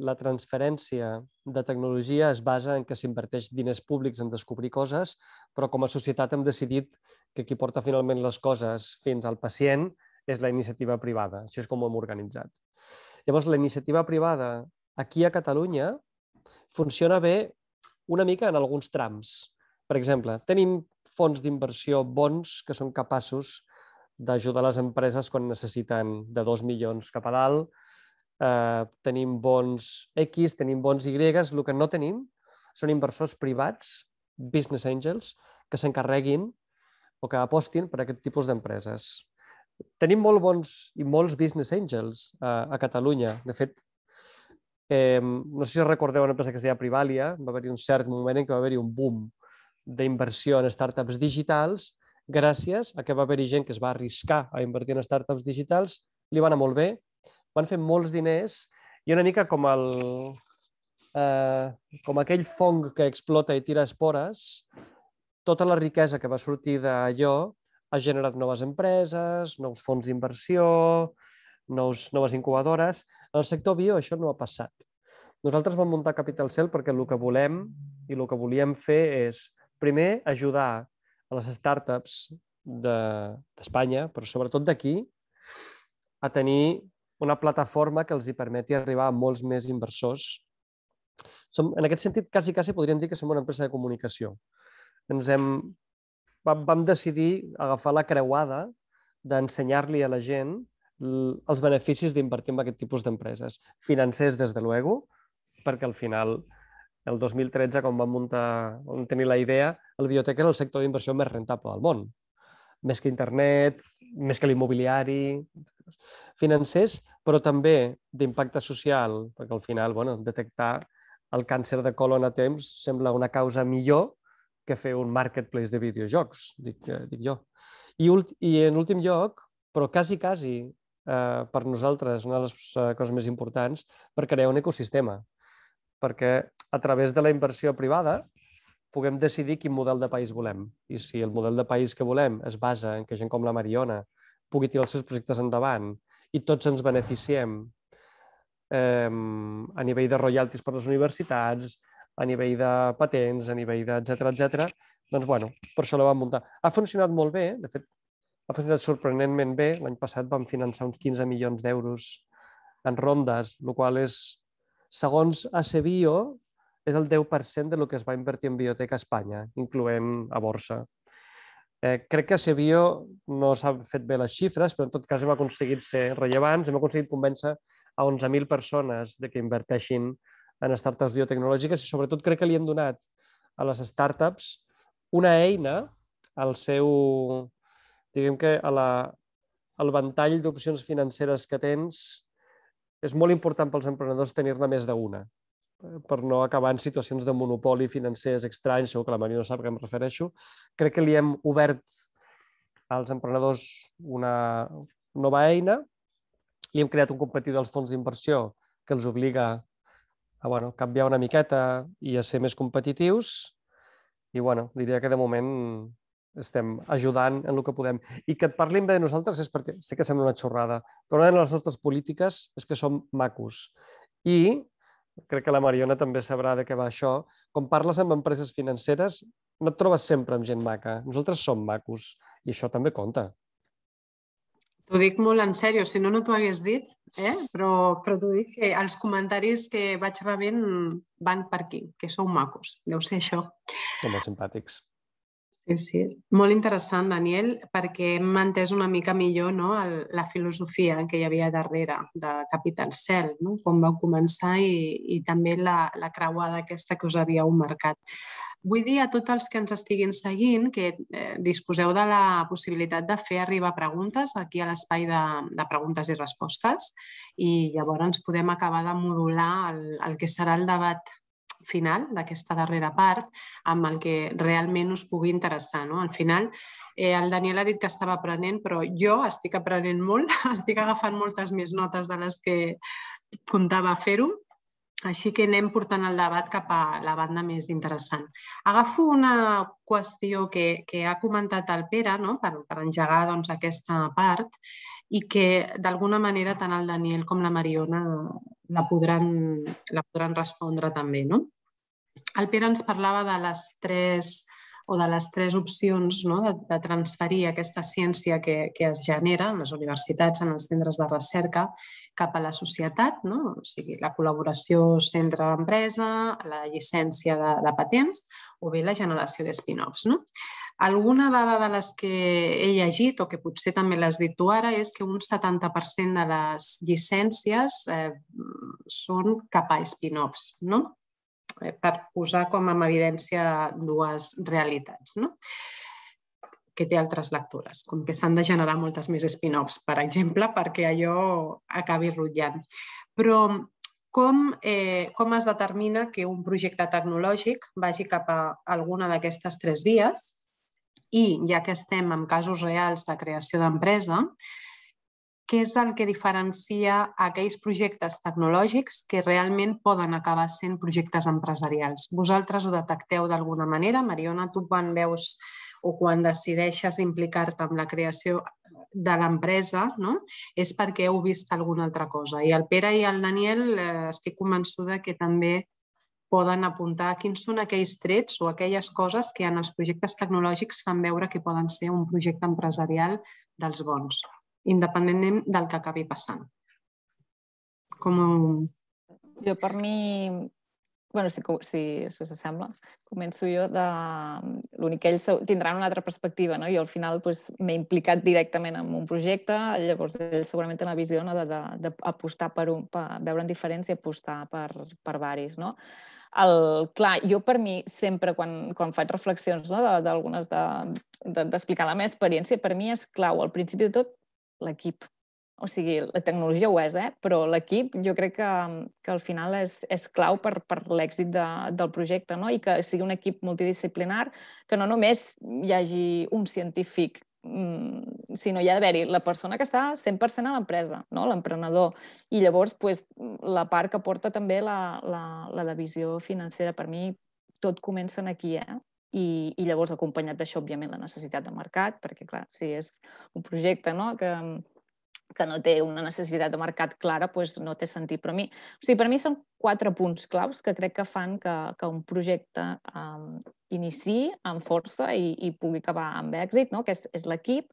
S5: la transferència de tecnologia es basa en que s'inverteix diners públics en descobrir coses, però com a societat hem decidit que qui porta finalment les coses fins al pacient és la iniciativa privada. Això és com ho hem organitzat. Llavors, la iniciativa privada aquí a Catalunya funciona bé una mica en alguns trams. Per exemple, tenim fons d'inversió bons que són capaços d'ajudar les empreses quan necessiten de dos milions cap a dalt. Eh, tenim bons X, tenim bons Y. El que no tenim són inversors privats, business angels, que s'encarreguin o que apostin per aquest tipus d'empreses. Tenim molt bons i molts business angels a, a Catalunya. De fet, eh, no sé si recordeu una empresa que es deia Privalia, va haver-hi un cert moment en què va haver-hi un boom d'inversió en startups digitals gràcies a que va haver-hi gent que es va arriscar a invertir en startups digitals, li va anar molt bé, van fer molts diners i una mica com, el, eh, com aquell fong que explota i tira espores, tota la riquesa que va sortir d'allò ha generat noves empreses, nous fons d'inversió, noves incubadores. En el sector bio això no ha passat. Nosaltres vam muntar Capital Cell perquè el que volem i el que volíem fer és, primer, ajudar a les startups d'Espanya, però sobretot d'aquí, a tenir una plataforma que els hi permeti arribar a molts més inversors. Som, en aquest sentit, quasi, quasi podríem dir que som una empresa de comunicació. Ens hem, vam, vam decidir agafar la creuada d'ensenyar-li a la gent els beneficis d'invertir en aquest tipus d'empreses. Financers, des de luego, perquè al final, el dos mil tretze, quan vam muntar, vam tenir la idea, el biotec era el sector d'inversió més rentable del món. Més que internet, més que l'immobiliari, financers, però també d'impacte social, perquè al final, bueno, detectar el càncer de colon a temps sembla una causa millor que fer un marketplace de videojocs, dic, dic jo. I, I en últim lloc, però quasi, quasi, eh, per nosaltres, una de les coses més importants, per crear un ecosistema. Perquè a través de la inversió privada puguem decidir quin model de país volem. I si el model de país que volem es basa en que gent com la Mariona pugui tirar els seus projectes endavant i tots ens beneficiem eh, a nivell de royalties per les universitats, a nivell de patents, a nivell d'etcètera, etcètera, doncs, bueno, per això la vam muntar. Ha funcionat molt bé, de fet, ha funcionat sorprenentment bé. L'any passat vam finançar uns quinze milions d'euros en rondes, el qual és, segons Acebio, és el deu per cent del que es va invertir en biotec a Espanya, incloent a borsa. Eh, crec que Acebio no s'ha fet bé les xifres, però en tot cas hem aconseguit ser rellevants, hem aconseguit convèncer a onze mil persones de que inverteixin en startups biotecnològiques i sobretot crec que li hem donat a les startups una eina al seu, diguem que a la, al ventall d'opcions financeres que tens. És molt important pels emprenedors tenir-ne més d'una, per no acabar en situacions de monopoli financers estranys, segur que la Maria no sap a què em refereixo. Crec que li hem obert als emprenedors una nova eina, li hem creat un competidor als fons d'inversió que els obliga a bueno, canviar una miqueta i a ser més competitius i bueno, diria que de moment estem ajudant en el que podem. I que et parlin bé de nosaltres és perquè, sé que sembla una xorrada, però una de les nostres polítiques és que som macos. I crec que la Mariona també sabrà de què va això. Quan parles amb empreses financeres, no et trobes sempre amb gent maca. Nosaltres som macos i això també compta.
S2: T'ho dic molt en sèrio, si no, no t'ho hagués dit, eh? però, però t'ho dic que els comentaris que vaig rebent van per aquí, que sou macos, deu ser això.
S5: Som molt simpàtics.
S2: Sí, sí. Molt interessant, Daniel, perquè hem entès una mica millor no, el, la filosofia que hi havia darrere de Capital Cell, no? Com vau començar i, i també la, la creuada aquesta que us havíeu marcat. Vull dir a tots els que ens estiguin seguint que eh, disposeu de la possibilitat de fer arribar preguntes aquí a l'espai de, de preguntes i respostes i llavors podem acabar de modular el, el que serà el debat final d'aquesta darrera part amb el que realment us pugui interessar. Al final, el Daniel ha dit que estava aprenent, però jo estic aprenent molt, estic agafant moltes més notes de les que comptava fer-ho, així que anem portant el debat cap a la banda més interessant. Agafo una qüestió que ha comentat el Pere per engegar aquesta part i que d'alguna manera tant el Daniel com la Mariona la podran respondre també. El Pere ens parlava de les tres o de les tres opcions de transferir aquesta ciència que es genera en les universitats, en els centres de recerca, cap a la societat, o sigui, la col·laboració centre-empresa, la llicència de patents o bé la generació de spin-offs. Alguna dada de les que he llegit, o que potser també l'has dit tu ara, és que un setanta per cent de les llicències són cap a spin-offs, per posar com a evidència dues realitats, que té altres lectures, com que s'han de generar moltes més spin-offs, per exemple, perquè allò acabi rutllant. Però com es determina que un projecte tecnològic vagi cap a alguna d'aquestes tres vies? I, ja que estem en casos reals de creació d'empresa, què és el que diferencia aquells projectes tecnològics que realment poden acabar sent projectes empresarials? Vosaltres ho detecteu d'alguna manera? Mariona, tu quan veus o quan decideixes implicar-te en la creació de l'empresa és perquè heu vist alguna altra cosa. I el Pere i el Daniel estic convençuda que també poden apuntar quins són aquells trets o aquelles coses que en els projectes tecnològics fan veure que poden ser un projecte empresarial dels bons, independentment del que acabi passant. Com...
S4: Jo, per mi, bueno, si us sembla, començo jo de... L'únic que ells tindran una altra perspectiva, no? Jo al final m'he implicat directament en un projecte, llavors ells segurament tenen la visió d'apostar per un, veure en diferència i apostar per varis, no? Clar, jo per mi sempre, quan faig reflexions d'algunes d'explicar la meva experiència, per mi és clau, al principi de tot, l'equip. O sigui, la tecnologia ho és, però l'equip jo crec que al final és clau per l'èxit del projecte i que sigui un equip multidisciplinar, que no només hi hagi un científic, sinó hi ha d'haver-hi la persona que està cent per cent a l'empresa, l'emprenedor, i llavors la part que porta també la divisió financera. Per mi tot comença aquí, i llavors acompanyat d'això, òbviament, la necessitat de mercat, perquè clar, si és un projecte que que no té una necessitat de mercat clara, doncs no té sentit. Però per mi són quatre punts claus que crec que fan que un projecte iniciï amb força i pugui acabar amb èxit, que és l'equip,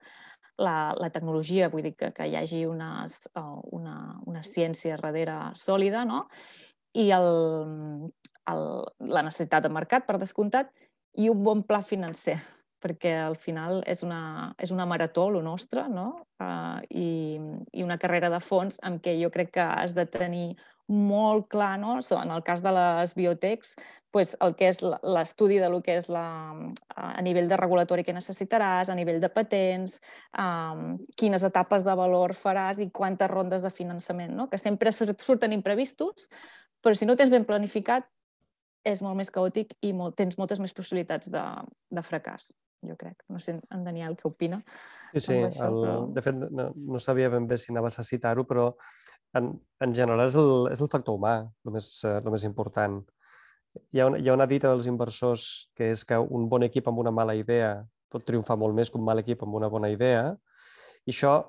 S4: la tecnologia, vull dir que hi hagi una ciència darrere sòlida, i la necessitat de mercat, per descomptat, i un bon pla financer, perquè al final és una marató, el nostre, i una carrera de fons en què jo crec que has de tenir molt clar, en el cas de les biotechs, el que és l'estudi del que és a nivell de regulatori que necessitaràs, a nivell de patents, quines etapes de valor faràs i quantes rondes de finançament, que sempre surten imprevistos, però si no tens ben planificat, és molt més caòtic i tens moltes més possibilitats de fracàs, jo crec. No sé, en Daniel, què opina?
S5: Sí, sí. De fet, no sabia ben bé si anaves a citar-ho, però en general és el factor humà el més important. Hi ha una dita dels inversors que és que un bon equip amb una mala idea pot triomfar molt més que un mal equip amb una bona idea. I això,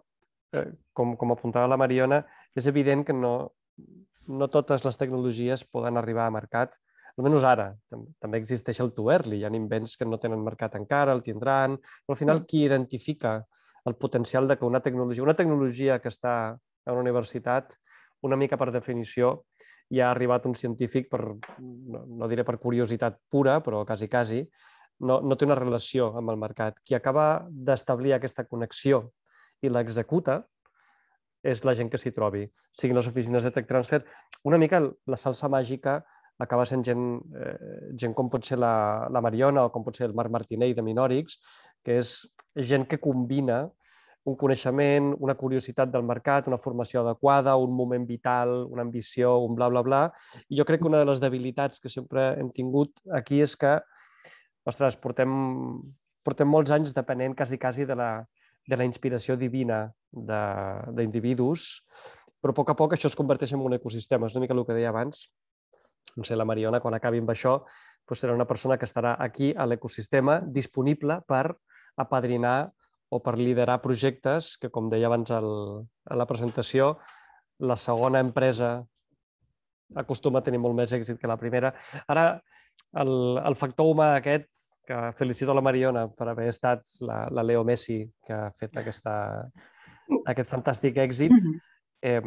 S5: com apuntava la Mariona, és evident que no totes les tecnologies poden arribar a mercat. Almenys ara. També existeix el too early. Hi ha invents que no tenen mercat encara, el tindran. Però al final, qui identifica el potencial de que una tecnologia, una tecnologia que està a una universitat, una mica per definició, hi ha arribat un científic, no diré per curiositat pura, però quasi, quasi, no té una relació amb el mercat. Qui acaba d'establir aquesta connexió i l'executa és la gent que s'hi trobi. Siguin les oficines de tech transfer. Una mica la salsa màgica acaba sent gent com pot ser la Mariona o com pot ser el Marc Martinell de Minorix, que és gent que combina un coneixement, una curiositat del mercat, una formació adequada, un moment vital, una ambició, un bla, bla, bla. I jo crec que una de les debilitats que sempre hem tingut aquí és que, ostres, portem, portem molts anys depenent quasi, quasi de la, de la inspiració divina d'individus, però a poc a poc això es converteix en un ecosistema. És una mica el que deia abans. No sé, la Mariona, quan acabi amb això, doncs serà una persona que estarà aquí a l'ecosistema disponible per apadrinar o per liderar projectes que, com deia abans el, a la presentació, la segona empresa acostuma a tenir molt més èxit que la primera. Ara, el, el factor humà aquest, que felicito la Mariona per haver estat la, la Leo Messi que ha fet aquesta, aquest fantàstic èxit, eh,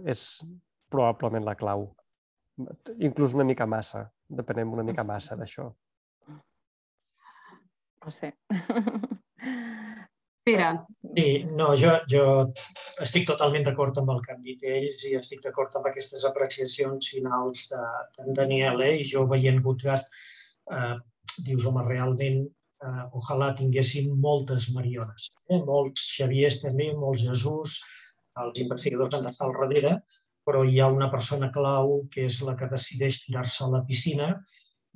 S5: és probablement la clau. Inclús una mica massa, depenem una mica massa d'això.
S4: No sé.
S2: Pere.
S3: Sí, no, jo, jo estic totalment d'acord amb el que han dit ells i estic d'acord amb aquestes apreciacions finals d'en Daniel, eh? I jo veient Gutgat, eh, dius, home, realment, eh, ojalà tinguéssim moltes Mariones, eh? Molts Xaviers també, molts Jesús, els investigadors han d'estar al darrere, però hi ha una persona clau que és la que decideix tirar-se a la piscina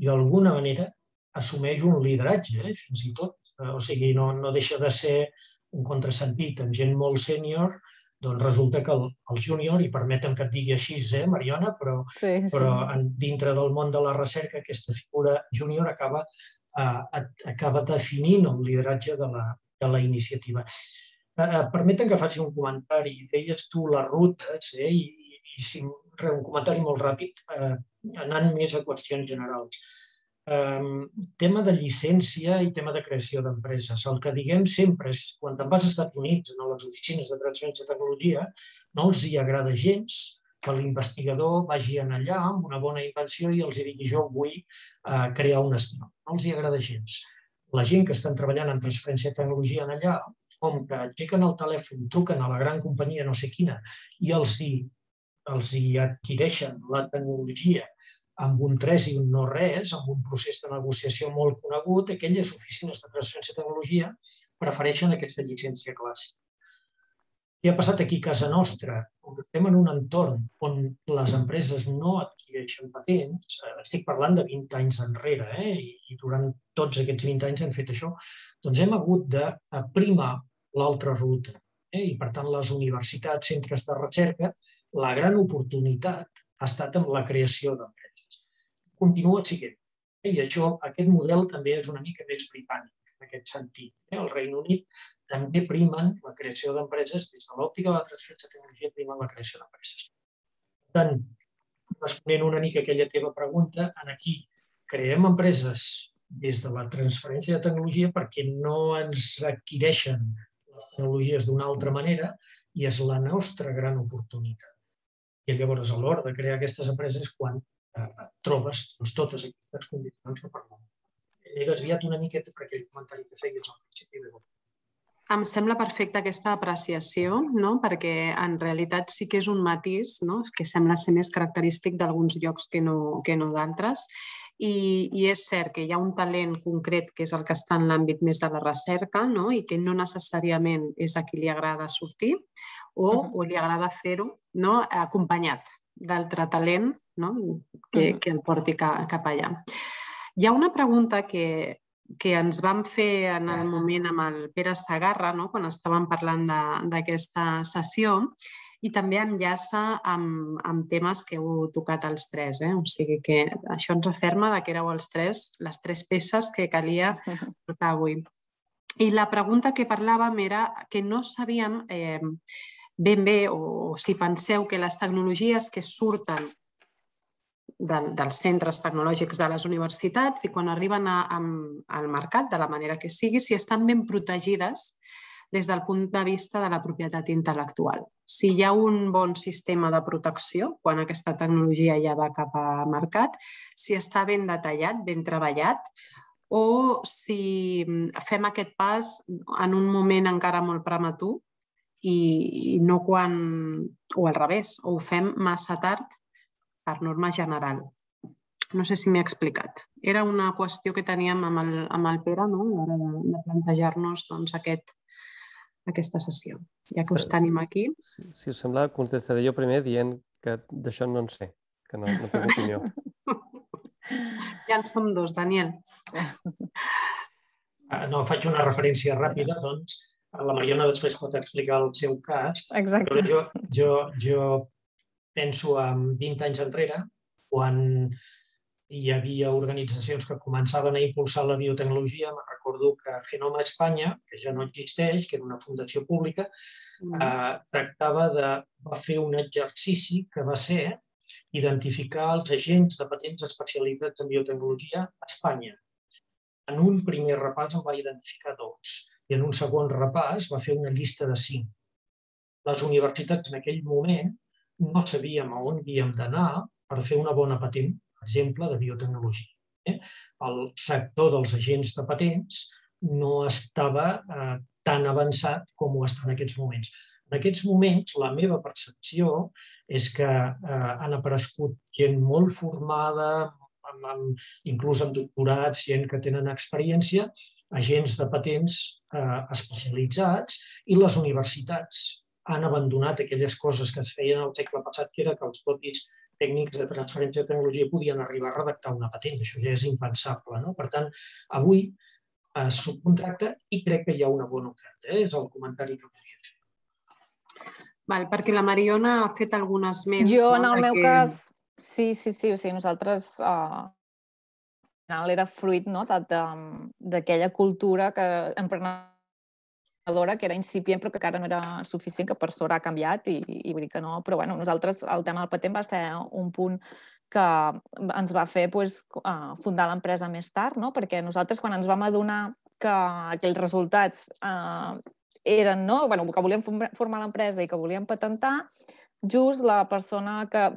S3: i d'alguna manera assumeix un lideratge, eh? Fins i tot. O sigui, no, no deixa de ser un contrasentit. Amb gent molt sènior, doncs resulta que el, el júnior, i permetem que et digui així, eh, Mariona, però,
S4: sí, sí,
S3: però
S4: sí.
S3: en, dintre del món de la recerca aquesta figura júnior acaba, eh, acaba definint el lideratge de la, de la iniciativa. Eh, permetem que faci un comentari. Deies tu les rutes, eh, i, i si, un comentari molt ràpid, eh, anant més a qüestions generals. Um, tema de llicència i tema de creació d'empreses. El que diguem sempre és, quan te'n vas als Estats Units, a les oficines de transferència de tecnologia, no els hi agrada gens que l'investigador vagi allà amb una bona invenció i els digui jo vull uh, crear un estil. No els hi agrada gens. La gent que estan treballant en transferència de tecnologia allà, com que aixequen el telèfon, truquen a la gran companyia no sé quina i els hi, els hi adquireixen la tecnologia amb un tres i un no res, amb un procés de negociació molt conegut, aquelles oficines de transferència de tecnologia prefereixen aquesta llicència clàssica. Què ha passat aquí a casa nostra? Com estem en un entorn on les empreses no adquireixen patents, estic parlant de vint anys enrere, eh? I durant tots aquests vint anys han fet això, doncs hem hagut de primar l'altra ruta. Eh? I per tant, les universitats, centres de recerca, la gran oportunitat ha estat amb la creació d'empreses. Continua sent. I això, aquest model també és una mica més britànic en aquest sentit. El Regne Unit també primen la creació d'empreses des de l'òptica de la transferència de tecnologia, primen la creació d'empreses. Per tant, responent una mica a aquella teva pregunta, aquí creem empreses des de la transferència de tecnologia perquè no ens adquireixen les tecnologies d'una altra manera i és la nostra gran oportunitat. I llavors, a l'hora de crear aquestes empreses, quan trobes totes aquestes condicions no parlant. He desviat una miqueta per aquell comentari que feies al principi.
S2: Em sembla perfecta aquesta apreciació, no? Perquè en realitat sí que és un matís, no? Que sembla ser més característic d'alguns llocs que no, que no d'altres. I, I és cert que hi ha un talent concret que és el que està en l'àmbit més de la recerca, no? I que no necessàriament és a qui li agrada sortir o, o li agrada fer-ho, no? Acompanyat d'altre talent, no? que, que el porti cap allà. Hi ha una pregunta que, que ens vam fer en el moment amb el Pere Segarra, no? Quan estàvem parlant d'aquesta sessió, i també enllaça amb, amb temes que heu tocat els tres. Eh? O sigui que això ens referma que éreu els tres, les tres peces que calia portar avui. I la pregunta que parlàvem era que no sabíem eh, ben bé, o, o si penseu que les tecnologies que surten de, dels centres tecnològics de les universitats i quan arriben a, a, al mercat, de la manera que sigui, si estan ben protegides des del punt de vista de la propietat intel·lectual. Si hi ha un bon sistema de protecció quan aquesta tecnologia ja va cap a mercat, si està ben detallat, ben treballat, o si fem aquest pas en un moment encara molt prematur i no quan, o al revés, o ho fem massa tard per norma general. No sé si m'he explicat. Era una qüestió que teníem amb el, amb el Pere, no? A l'hora de, de plantejar-nos doncs, aquest, aquesta sessió. Ja que us tenim aquí.
S5: Si us sembla, contestaré jo primer dient que d'això no en sé, que no tinc opinió.
S2: Ja en som dos, Daniel.
S3: No, faig una referència ràpida, doncs, la Mariona després pot explicar el seu cas.
S4: Exacte.
S3: Jo, jo, jo penso en vint anys enrere, quan hi havia organitzacions que començaven a impulsar la biotecnologia. Me recordo que Genoma Espanya, que ja no existeix, que era una fundació pública, eh, tractava de va fer un exercici que va ser identificar els agents de patents especialitzats en biotecnologia a Espanya. En un primer repàs en va identificar dos i en un segon repàs va fer una llista de cinc. Les universitats en aquell moment no sabíem a on havíem d'anar per fer una bona patent, per exemple, de biotecnologia. El sector dels agents de patents no estava tan avançat com ho està en aquests moments. En aquests moments, la meva percepció és que han aparegut gent molt formada, inclús amb doctorats, gent que tenen experiència, agents de patents especialitzats, i les universitats han abandonat aquelles coses que es feien al segle passat, que era que els propis tècnics de transferència de tecnologia podien arribar a redactar una patent. Això ja és impensable. Per tant, avui es subcontracta i crec que hi ha una bona oferta. És el comentari que volia fer.
S2: Val, perquè la Mariona ha fet algun esment.
S4: Jo, en el meu cas, sí, sí, sí. O sigui, nosaltres, al final, era fruit d'aquella cultura emprenedora que era incipient però que encara no era suficient, que per sort ha canviat i vull dir que no. Però, bueno, nosaltres, el tema del patent va ser un punt que ens va fer fundar l'empresa més tard, perquè nosaltres, quan ens vam adonar que aquells resultats eren, que volíem formar l'empresa i que volíem patentar, just la persona que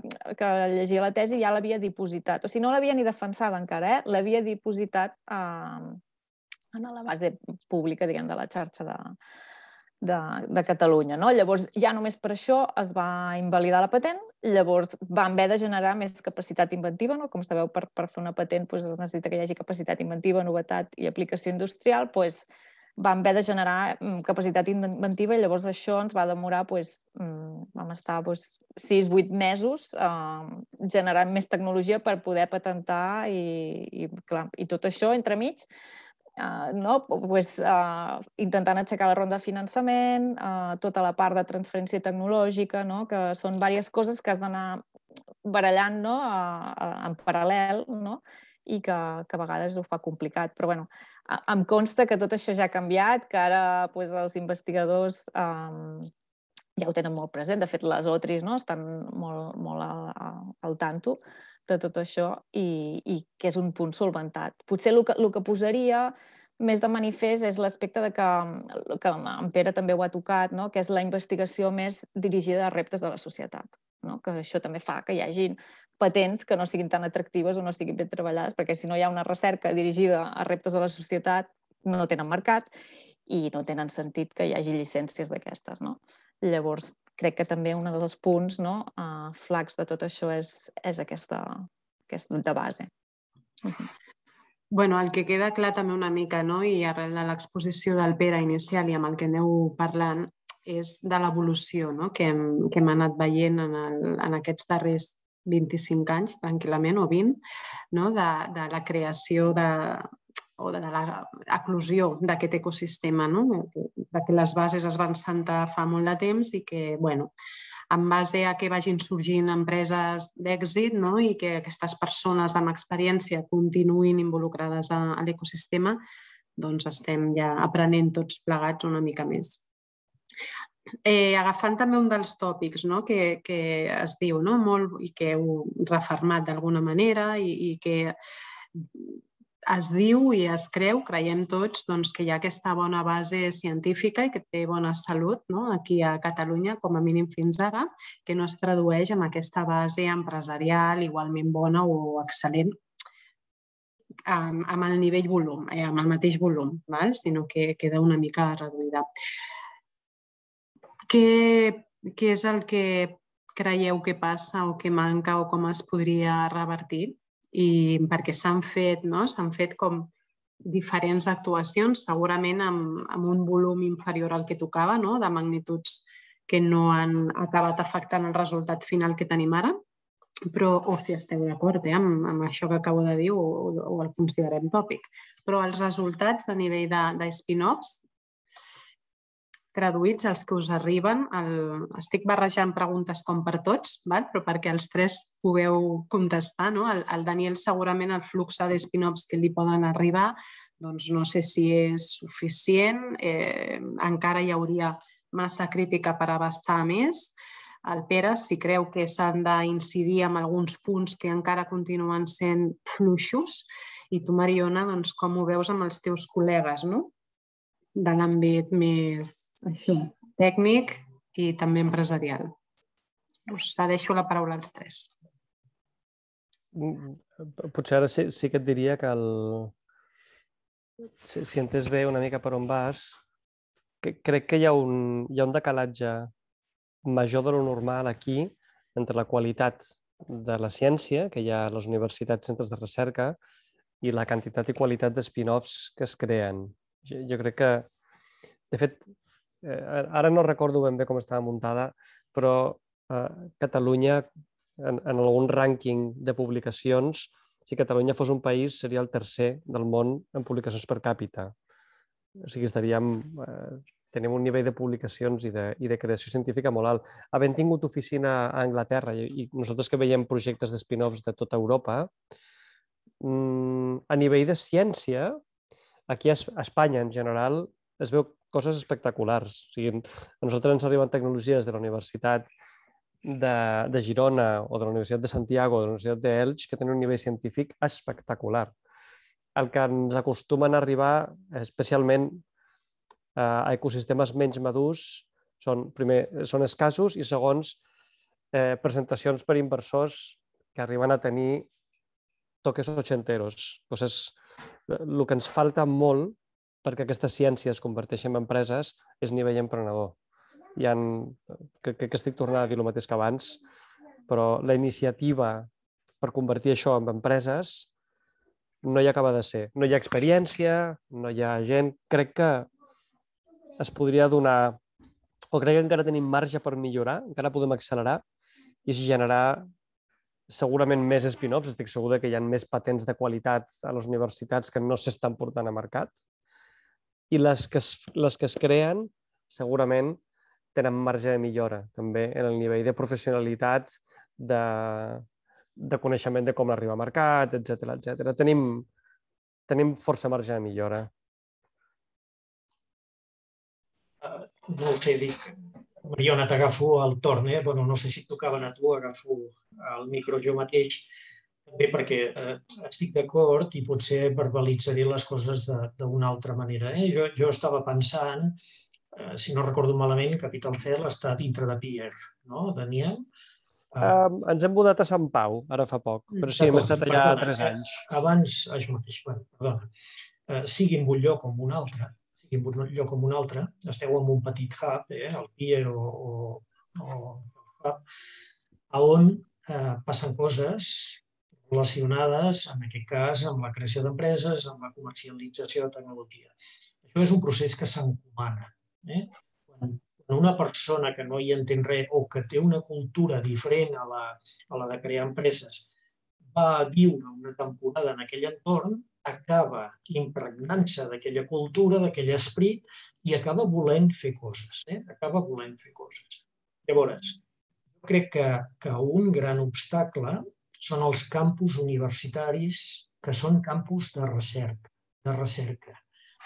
S4: llegia la tesi ja l'havia dipositat. O sigui, no l'havia ni defensada encara, l'havia dipositat en la base pública, diguem, de la xarxa de Catalunya. Llavors, ja només per això es va invalidar la patent. Llavors, vam haver de generar més capacitat inventiva. Com sabeu, per fer una patent es necessita que hi hagi capacitat inventiva, novetat i aplicació industrial. Vam haver de generar capacitat inventiva i llavors això ens va demorar, vam estar sis a vuit mesos generant més tecnologia per poder patentar i tot això entremig, intentant aixecar la ronda de finançament, tota la part de transferència tecnològica, que són diverses coses que has d'anar barallant en paral·lel i que a vegades ho fa complicat. Però bé, em consta que tot això ja ha canviat, que ara els investigadors ja ho tenen molt present. De fet, les O T R Is estan molt al tanto de tot això i que és un punt solventat. Potser el que posaria més de manifest és l'aspecte que en Pere també ho ha tocat, que és la investigació més dirigida a reptes de la societat. Que això també fa que hi hagi patents que no siguin tan atractives o no siguin ben treballades, perquè si no hi ha una recerca dirigida a reptes de la societat no tenen mercat i no tenen sentit que hi hagi llicències d'aquestes. Llavors, crec que també un dels punts flacs de tot això és aquesta de base.
S2: Bé, el que queda clar també una mica, i arrel de l'exposició del Pere inicial i amb el que aneu parlant, és de l'evolució que hem anat veient en aquests darrers vint-i-cinc anys, tranquil·lament, o vint, de la creació o de l'eclosió d'aquest ecosistema, que les bases es van sentar fa molt de temps i que, en base a que vagin sorgint empreses d'èxit i que aquestes persones amb experiència continuïn involucrades a l'ecosistema, doncs estem ja aprenent tots plegats una mica més. Agafant també un dels tòpics que es diu molt i que heu refermat d'alguna manera i que es diu i es creu, creiem tots, que hi ha aquesta bona base científica i que té bona salut aquí a Catalunya, com a mínim fins ara, que no es tradueix en aquesta base empresarial igualment bona o excel·lent amb el nivell volum, amb el mateix volum, sinó que queda una mica reduïda. Què és el que creieu que passa o que manca o com es podria revertir? I perquè s'han fet, s'han fet com diferents actuacions, segurament amb un volum inferior al que tocava, de magnituds que no han acabat afectant el resultat final que tenim ara, però, o si esteu d'acord amb això que acabo de dir o el considerem tòpic. Però els resultats a nivell de spin-offs, traduïts, els que us arriben, estic barrejant preguntes com per tots, però perquè els tres pugueu contestar. El Daniel segurament el flux de spin-offs que li poden arribar doncs no sé si és suficient, encara hi hauria massa crítica per abastar més. El Pere, si creu que s'han d'incidir en alguns punts que encara continuen sent fluixos. I tu, Mariona, com ho veus amb els teus col·legues de l'àmbit més tècnic i també empresarial? Us cedeixo la paraula als tres.
S5: Potser ara sí que et diria que si entès bé una mica per on vas, crec que hi ha un decalatge major de lo normal aquí entre la qualitat de la ciència que hi ha a les universitats, centres de recerca, i la quantitat i qualitat de spin-offs que es creen. Jo crec que, de fet, ara no recordo ben bé com estava muntada, però Catalunya, en algun rànquing de publicacions, si Catalunya fos un país, seria el tercer del món en publicacions per càpita. O sigui, estaríem... Tenim un nivell de publicacions i de creació científica molt alt. Havent tingut oficina a Anglaterra i nosaltres que veiem projectes de spin-offs de tota Europa, a nivell de ciència, aquí a Espanya en general es veu coses espectaculars. O sigui, a nosaltres ens arriben tecnologies de la Universitat de Girona o de la Universitat de Santiago o de la Universitat d'Elx que tenen un nivell científic espectacular. El que ens acostumen a arribar, especialment a ecosistemes menys madurs, són, primer, són escassos i, segons, presentacions per inversors que arriben a tenir toques ochenteros. El que ens falta molt perquè aquesta ciència es converteixi en empreses és nivell emprenedor. Crec que estic tornant a dir el mateix que abans, però la iniciativa per convertir això en empreses no hi acaba de ser. No hi ha experiència, no hi ha gent. Crec que es podria donar, o crec que encara tenim marge per millorar, encara podem accelerar i generar segurament més spin-offs. Estic segur que hi ha més patents de qualitat a les universitats que no s'estan portant a mercat. I les que es creen segurament tenen marge de millora, també en el nivell de professionalitat, de coneixement de com arribar al mercat, etcètera. Tenim força marge de millora.
S3: No ho sé, dic, Mariona, t'agafo el torn, eh? Bueno, no sé si et tocaven a tu, agafo el micro jo mateix, també perquè estic d'acord i potser verbalitzaré les coses d'una altra manera. Jo estava pensant, si no recordo malament, Capital Cell està dintre de Peer, no, Daniel?
S5: Ens hem mudat a Sant Pau, ara fa poc, però sí, hem estat allà tres anys.
S3: Abans, això mateix, perdona, sigui en un lloc o en un altre, en un lloc com un altre, esteu en un petit hub, el Peer o el hub, on passen coses relacionades, en aquest cas, amb la creació d'empreses, amb la comercialització de tecnologia. Això és un procés que s'encomana. Quan una persona que no hi entén res o que té una cultura diferent a la de crear empreses va viure una temporada en aquell entorn, acaba impregnant-se d'aquella cultura, d'aquell esperit i acaba volent fer coses. Acaba volent fer coses. Llavors, jo crec que un gran obstacle són els campus universitaris que són campus de recerca.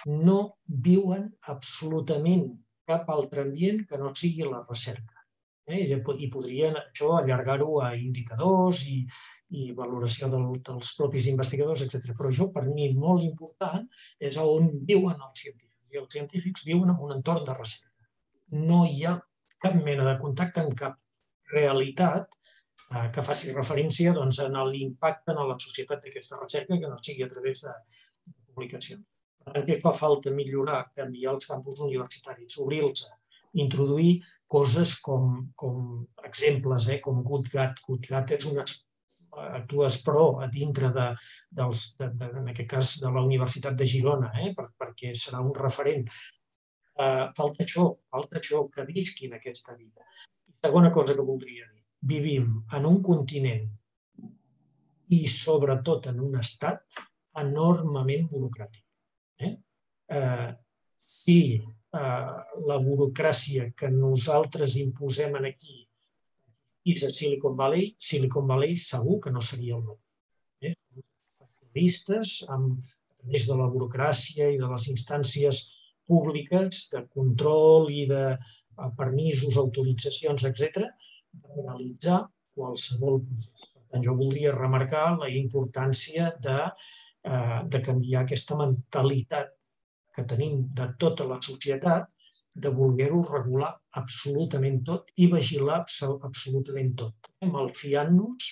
S3: No viuen absolutament cap altre ambient que no sigui la recerca. I podrien això allargar-ho a indicadors i i valoració dels propis investigadors, etcètera. Però això, per mi, molt important, és on viuen els científics. I els científics viuen en un entorn de recerca. No hi ha cap mena de contacte amb cap realitat que faci referència a l'impacte en la societat d'aquesta recerca, que no sigui a través de publicacions. Per tant, què fa falta millorar? Canviar els campus universitaris, obrir-los, introduir coses com exemples, com GoodGat. GoodGat és una actues però a dintre de, dels, de, de, en aquest cas, de la Universitat de Girona, eh, per, perquè serà un referent. Uh, falta això, falta això, que visquin aquesta vida. I segona cosa que voldria dir, vivim en un continent i sobretot en un estat enormement burocràtic. Eh? Uh, si uh, la burocràcia que nosaltres imposem aquí és a Silicon Valley, Silicon Valley segur que no seria el mateix. Eh? Especialistes, amb, a través de la burocràcia i de les instàncies públiques de control i de permisos, autoritzacions, etcètera, de realitzar qualsevol procés. Per tant, jo voldria remarcar la importància de, eh, de canviar aquesta mentalitat que tenim de tota la societat de voler-ho regular absolutament tot i vigilar absolutament tot, malfiant-nos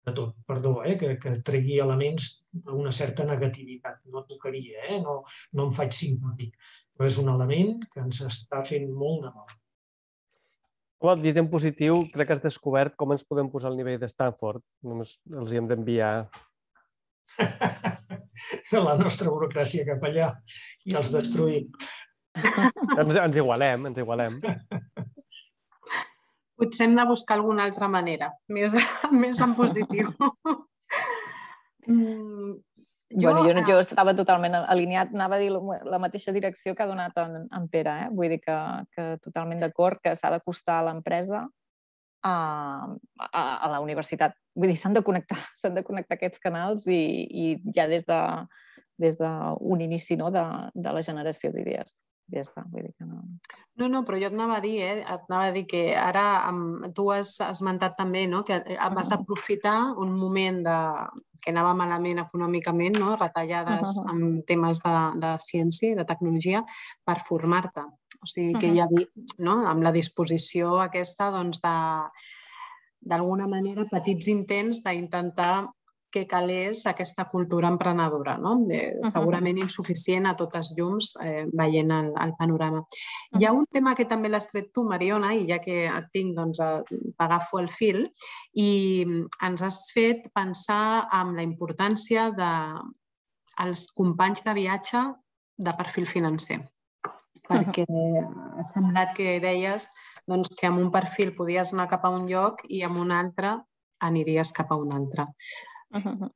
S3: de tot. Perdó, eh, que, que tregui elements d'una certa negativitat. No tocaria, eh? no, no em faig simpàtic, però és un element que ens està fent molt de mal.
S5: Home, dit en positiu, crec que has descobert com ens podem posar al nivell de Stanford. Només els hi hem d'enviar
S3: la nostra burocràcia cap allà i els destruïm.
S5: Ens, ens igualem, ens igualem.
S2: Potser hem de buscar alguna altra manera, més, més en positiu. mm,
S4: jo, bueno, jo, jo estava totalment alineat, anava a dir la mateixa direcció que ha donat en, en Pere. Eh? Vull dir que, que totalment d'acord, que s'ha d'acostar a l'empresa a, a, a la universitat. Vull dir, s'han de connectar, s'han de connectar aquests canals i, i ja des de des d'un inici, no? de, de la generació d'idees. Ja està, vull dir que no...
S2: No, no, però jo et anava a dir, eh? et anava a dir que ara tu has esmentat també, no? Que vas aprofitar un moment de... que anava malament econòmicament, no? Retallades en temes de, de ciència i de tecnologia, per formar-te. O sigui que hi havia, no? Amb la disposició aquesta, doncs, de, d'alguna manera, petits intents d'intentar que calés aquesta cultura emprenedora, no? Eh, segurament insuficient a totes llums eh, veient el, el panorama. Hi ha un tema que també l'has tret tu, Mariona, i ja que et tinc, doncs, t'agafo el fil, i ens has fet pensar en la importància dels companys de viatge de perfil financer. Perquè ha semblat que deies doncs, que amb un perfil podies anar cap a un lloc i amb un altre aniries cap a un altre.
S4: Uh-huh.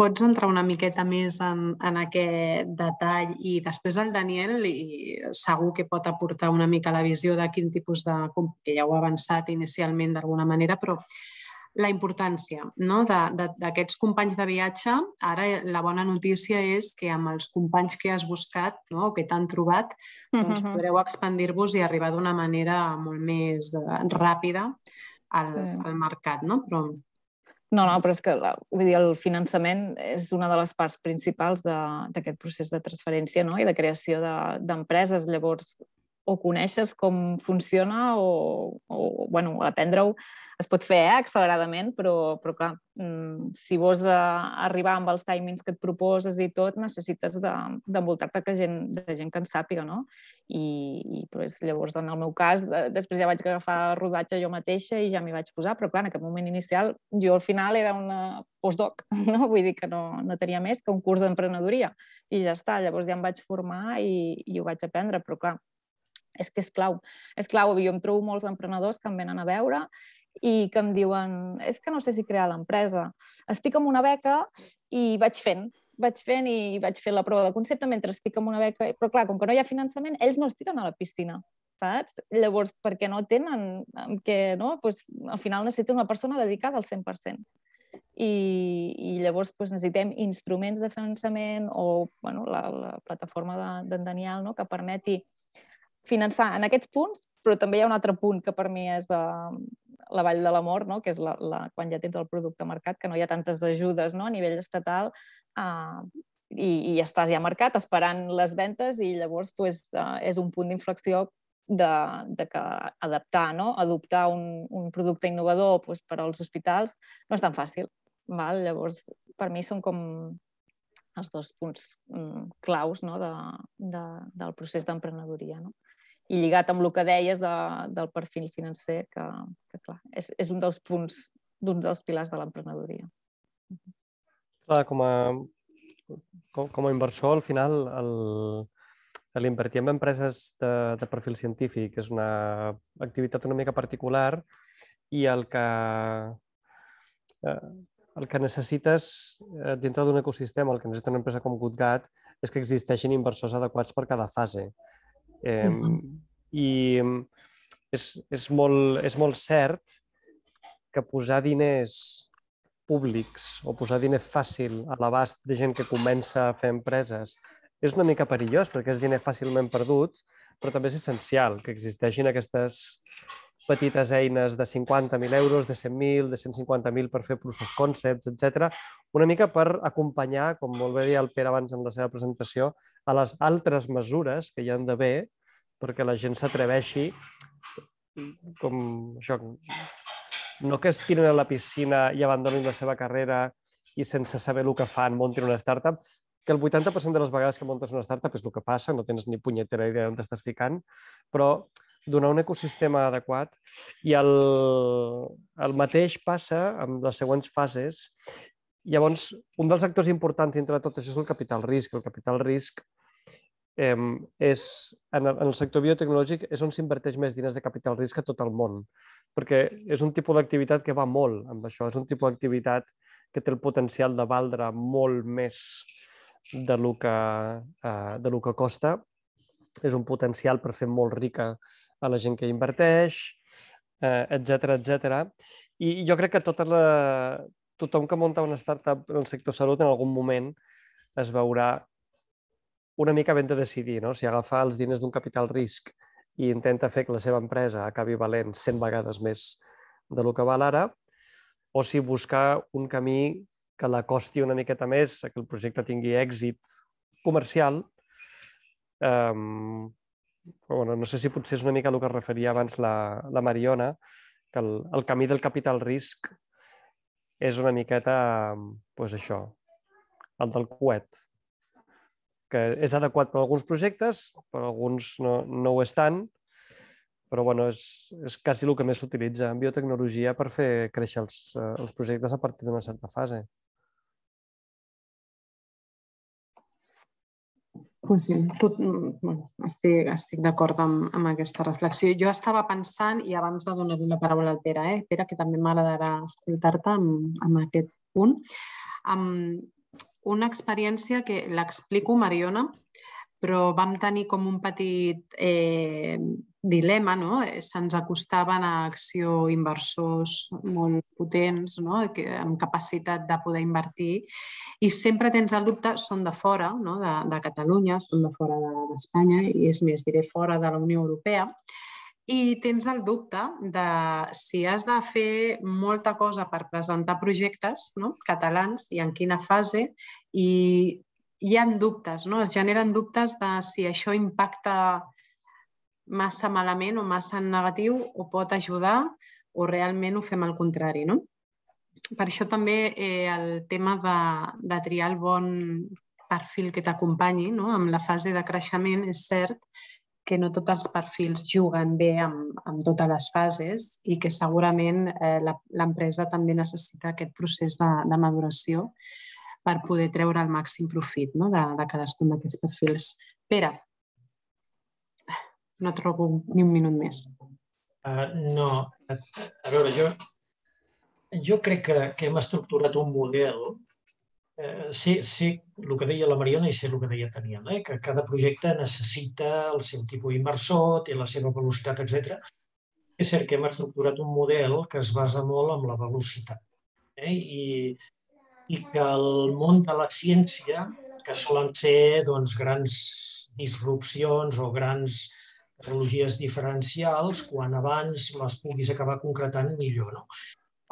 S2: Pots entrar una miqueta més en, en aquest detall i després el Daniel i segur que pot aportar una mica la visió de quin tipus de... que ja ho ha avançat inicialment d'alguna manera, però la importància, no? d'aquests companys de viatge. Ara la bona notícia és que amb els companys que has buscat, no? o que t'han trobat, doncs uh-huh. podreu expandir-vos i arribar d'una manera molt més ràpida al, sí. al mercat, no? Però...
S4: No, no, però és que vull dir, el finançament és una de les parts principals d'aquest procés de transferència, no? I de creació d'empreses. De, Llavors, o coneixes com funciona o, o bueno, aprendre-ho es pot fer eh, acceleradament, però, però clar, si vols arribar amb els timings que et proposes i tot, necessites d'envoltar-te de, gent, de gent que en sàpiga, no? I, i pues, llavors, en el meu cas, després ja vaig agafar rodatge jo mateixa i ja m'hi vaig posar, però clar, en aquest moment inicial jo al final era una postdoc, no? Vull dir que no, no tenia més que un curs d'emprenedoria i ja està, llavors ja em vaig formar i, i ho vaig aprendre, però clar, és que és clau, és clau, jo em trobo molts emprenedors que em venen a veure i que em diuen, és que no sé si crear l'empresa, estic amb una beca i vaig fent, vaig fent i vaig fer la prova de concepte mentre estic amb una beca, però clar, com que no hi ha finançament, ells no es tiren a la piscina, saps? Llavors, perquè no tenen, que, no? Pues, al final necessita una persona dedicada al cent per cent. I, i llavors pues, necessitem instruments de finançament o bueno, la, la plataforma d'en de, Daniel, no? Que permeti finançar en aquests punts, però també hi ha un altre punt que per mi és uh, la vall de la mort, no? Que és la, la, quan ja tens el producte marcat, que no hi ha tantes ajudes, no? A nivell estatal uh, i, i estàs ja marcat esperant les ventes i llavors pues, uh, és un punt d'inflexió de, de que adaptar, no? Adoptar un, un producte innovador pues, per als hospitals no és tan fàcil. Val? Llavors, per mi són com els dos punts um, claus no? de, de, del procés d'emprenedoria. No? I lligat amb el que deies de, del perfil financer, que, que clar, és, és un dels punts d'un dels pilars de l'emprenedoria.
S5: Clar, com a, com a inversor, al final, l'invertir en empreses de, de perfil científic és una activitat una mica particular i el que, el que necessites dintre d'un ecosistema, el que necessita una empresa com GoodGad, és que existeixin inversors adequats per cada fase. Eh, I és, és, molt, és molt cert que posar diners públics o posar diner fàcil a l'abast de gent que comença a fer empreses és una mica perillós perquè és diner fàcilment perdut, però també és essencial que existeixin aquestes petites eines de cinquanta mil euros, de cent mil, de cent cinquanta mil per fer proof of concepts, etcètera, una mica per acompanyar, com molt bé deia el Pere abans en la seva presentació, a les altres mesures que hi han d'haver perquè la gent s'atreveixi com això, no que es tiren a la piscina i abandonin la seva carrera i sense saber el que fan muntin una startup, que el vuitanta per cent de les vegades que muntes una startup és el que passa, no tens ni punyetera idea on t'estàs ficant, però donar un ecosistema adequat i el, el mateix passa amb les següents fases. Llavors, un dels actors importants dintre de tot això és el capital risc. El capital risc eh, és, en el, en el sector biotecnològic és on s'inverteix més diners de capital risc a tot el món, perquè és un tipus d'activitat que va molt amb això, és un tipus d'activitat que té el potencial de valdre molt més de lo que, eh, de lo que costa, és un potencial per fer molt rica a la gent que inverteix, eh, etcètera, etcètera. I jo crec que tota la, tothom que munta una startup en el sector salut en algun moment es veurà una mica ben de decidir, no? Si agafar els diners d'un capital risc i intenta fer que la seva empresa acabi valent cent vegades més de lo que val ara, o si buscar un camí que la costi una miqueta més, que el projecte tingui èxit comercial. Um, bueno, no sé si potser és una mica el que es referia abans la, la Mariona, que el, el camí del capital risc és una miqueta, pues això, el del coet, que és adequat per a alguns projectes, per a alguns no, no ho és tant, però bueno, és, és quasi el que més s'utilitza en biotecnologia per fer créixer els, els projectes a partir d'una certa fase.
S2: Pues sí, tot, bueno, estic, estic d'acord amb, amb aquesta reflexió. Jo estava pensant, i abans de donar-li la paraula al Pere, eh? Pere, que també m'agradarà escoltar-te amb, amb aquest punt, amb una experiència que l'explico, Mariona, però vam tenir com un petit eh, dilema, no? Se'ns acostaven a acció inversors molt potents, no? Que, amb capacitat de poder invertir, i sempre tens el dubte, són de fora, no? de, de Catalunya, són de fora d'Espanya, i és més, diré fora de la Unió Europea, i tens el dubte de si has de fer molta cosa per presentar projectes, no? catalans i en quina fase, i hi ha dubtes, no? Es generen dubtes de si això impacta massa malament o massa en negatiu o pot ajudar o realment ho fem al contrari, no? Per això també eh, el tema de, de triar el bon perfil que t'acompanyi, no? Amb la fase de creixement és cert que no tots els perfils juguen bé amb, amb totes les fases i que segurament eh, l'empresa també necessita aquest procés de, de maduració per poder treure el màxim profit, no? de, de cadascun d'aquests perfils. Pere, no trobo ni un minut més.
S3: Uh, no, a veure, jo, jo crec que, que hem estructurat un model, eh, sé, sé el que deia la Mariona i sé el que deia Taniel, eh, que cada projecte necessita el seu tipus inversor, té la seva velocitat, etcètera. És cert que hem estructurat un model que es basa molt en la velocitat. Eh, i i que el món de la ciència, que solen ser doncs, grans disrupcions o grans tecnologies diferencials, quan abans les puguis acabar concretant, millor. No?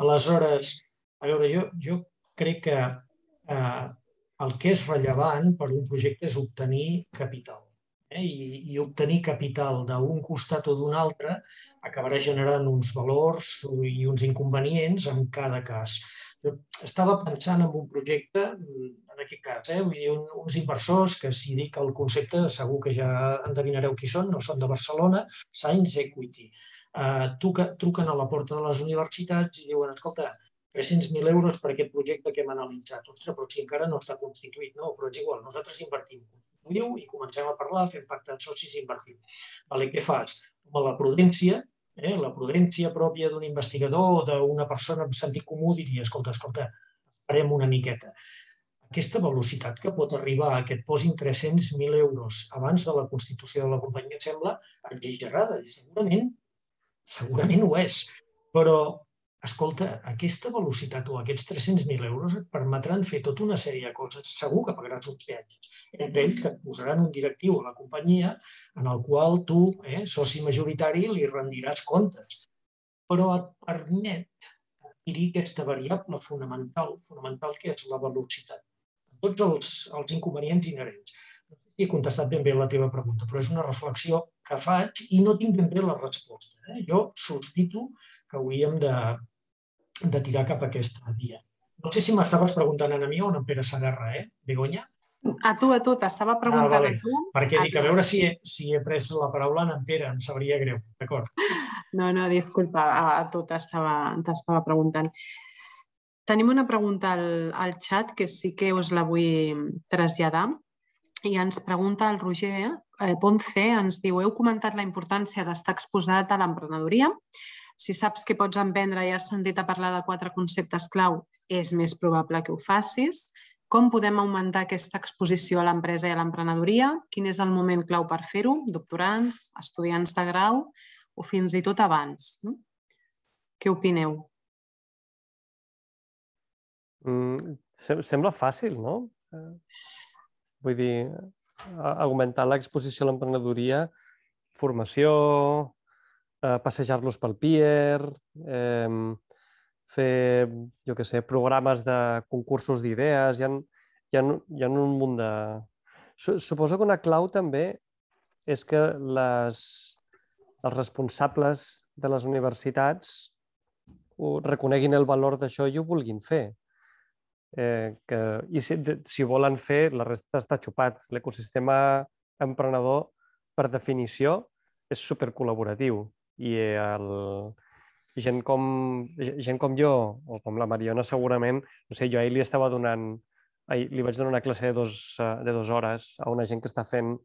S3: Aleshores, a veure, jo, jo crec que eh, el que és rellevant per un projecte és obtenir capital. Eh? I, I obtenir capital d'un costat o d'un altre acabarà generant uns valors i uns inconvenients en cada cas. Jo estava pensant en un projecte, en aquest cas, eh? Vull dir, un, uns inversors que, si dic el concepte, segur que ja endevinareu qui són, no són de Barcelona, Science Equity. Uh, truquen a la porta de les universitats i diuen, escolta, tres-cents mil euros per aquest projecte que hem analitzat. Ostres, però si encara no està constituït, no? Però és igual, nosaltres invertim. Constituïu i comencem a parlar, fem pacte de socis i invertim. Vale, què fas? Amb la prudència, eh? la prudència pròpia d'un investigador o d'una persona amb sentit comú diria, escolta, escolta, esperem una miqueta. Aquesta velocitat que pot arribar a que et posin tres-cents mil euros abans de la constitució de la companyia sembla exagerada i segurament, segurament ho és. Però, escolta, aquesta velocitat o aquests tres-cents mil euros et permetran fer tota una sèrie de coses. Segur que pagaràs uns peatges. Entre ells que et posaran un directiu a la companyia en el qual tu, eh, soci majoritari, li rendiràs comptes. Però et permet adquirir aquesta variable fonamental, fonamental que és la velocitat. Tots els, els inconvenients inherents. No sé si he contestat ben bé la teva pregunta, però és una reflexió que faig i no tinc ben bé la resposta. Eh? Jo sospito que hauríem de, de tirar cap a aquesta via. No sé si m'estaves preguntant a mi o a en Pere Segarra, eh, Begoña?
S2: A tu, a tu, t'estava preguntant
S3: ah, vale.
S2: a tu.
S3: Perquè
S2: a
S3: dic, a veure si he, si he pres la paraula en Pere, em sabria greu, d'acord?
S2: No, no, disculpa, a tu t'estava preguntant. Tenim una pregunta al, al xat que sí que us la vull traslladar i ens pregunta el Roger eh, Ponce, ens diu, heu comentat la importància d'estar exposat a l'emprenedoria. Si saps que pots emprendre i has sentit a parlar de quatre conceptes clau, és més probable que ho facis. Com podem augmentar aquesta exposició a l'empresa i a l'emprenedoria? Quin és el moment clau per fer-ho? Doctorants, estudiants de grau o fins i tot abans? Què opineu?
S5: Mm, sembla fàcil, no? Vull dir, augmentar l'exposició a l'emprenedoria, formació, passejar-los pel Pier, eh, fer, jo què sé, programes de concursos d'idees, hi ha, hi ha, hi ha un munt de... Suposo que una clau també és que les, els responsables de les universitats reconeguin el valor d'això i ho vulguin fer. Eh, que, I si, si volen fer, la resta està xupat. L'ecosistema emprenedor, per definició, és supercol·laboratiu. I el, gent, com, gent com jo, o com la Mariona segurament, no sé, jo ahir li estava donant, ahir li vaig donar una classe de dos, de dues hores a una gent que està fent,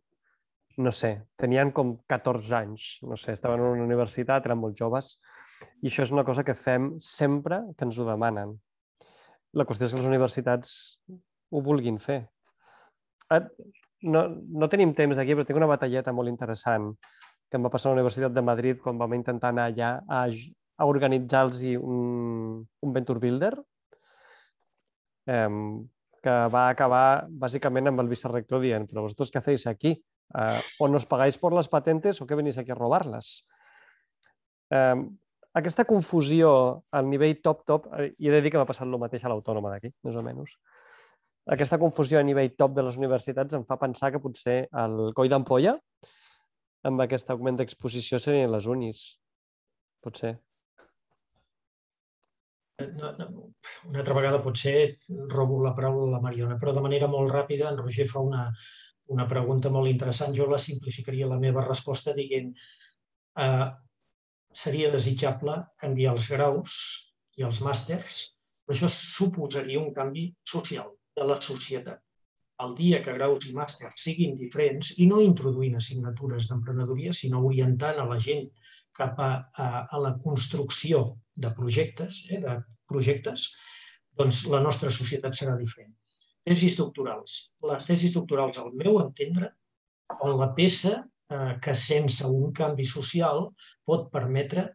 S5: no sé, tenien com catorze anys, no sé, estaven en una universitat, eren molt joves, i això és una cosa que fem sempre que ens ho demanen. La qüestió és que les universitats ho vulguin fer. No, no tenim temps aquí, però tinc una batalleta molt interessant que em va passar a la Universitat de Madrid quan vam intentar anar allà a, a organitzar-los un, un Venture Builder eh, que va acabar bàsicament amb el vicerrector dient «Però vosotros què hacéis aquí? Eh, ¿O nos pagáis por las patentes o què venís aquí a robar-les?» Eh, Aquesta confusió al nivell top-top, i he de dir que m'ha passat el mateix a l'Autònoma d'aquí, més o menys. Aquesta confusió a nivell top de les universitats em fa pensar que potser el coll d'ampolla amb aquest augment d'exposició serien les unis. Potser.
S3: No, no, una altra vegada potser robo la paraula a la Mariona, però de manera molt ràpida en Roger fa una, una pregunta molt interessant. Jo la simplificaria la meva resposta dient eh, seria desitjable canviar els graus i els màsters, però això suposaria un canvi social de la societat. El dia que graus i màsters siguin diferents i no introduint assignatures d'emprenedoria, sinó orientant a la gent cap a, a, a la construcció de projectes, eh, de projectes, doncs la nostra societat serà diferent. Tesis doctorals. Les tesis doctorals, al meu entendre, són la peça que sense un canvi social pot permetre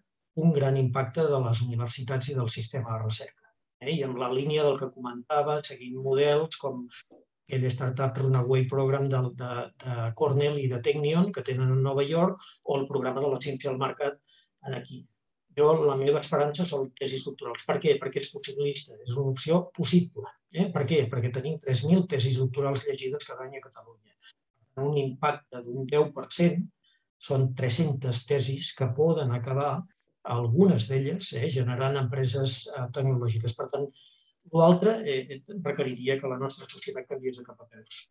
S3: un gran impacte de les universitats i del sistema de recerca. I en la línia del que comentava, seguint models com aquell Startup Runaway Program de, de, de Cornell i de Technion, que tenen a Nova York, o el programa de la ciència al mercat aquí. Jo, la meva esperança són tesis doctorals. Per què? Perquè és possibilista, és una opció possible. Eh? Per què? Perquè tenim tres mil tesis doctorals llegides cada any a Catalunya. Un impacte d'un deu per cent, són tres-centes tesis que poden acabar, algunes d'elles, eh, generant empreses eh, tecnològiques. Per tant, l'altre eh, requeriria que la nostra societat canviés de cap a peus.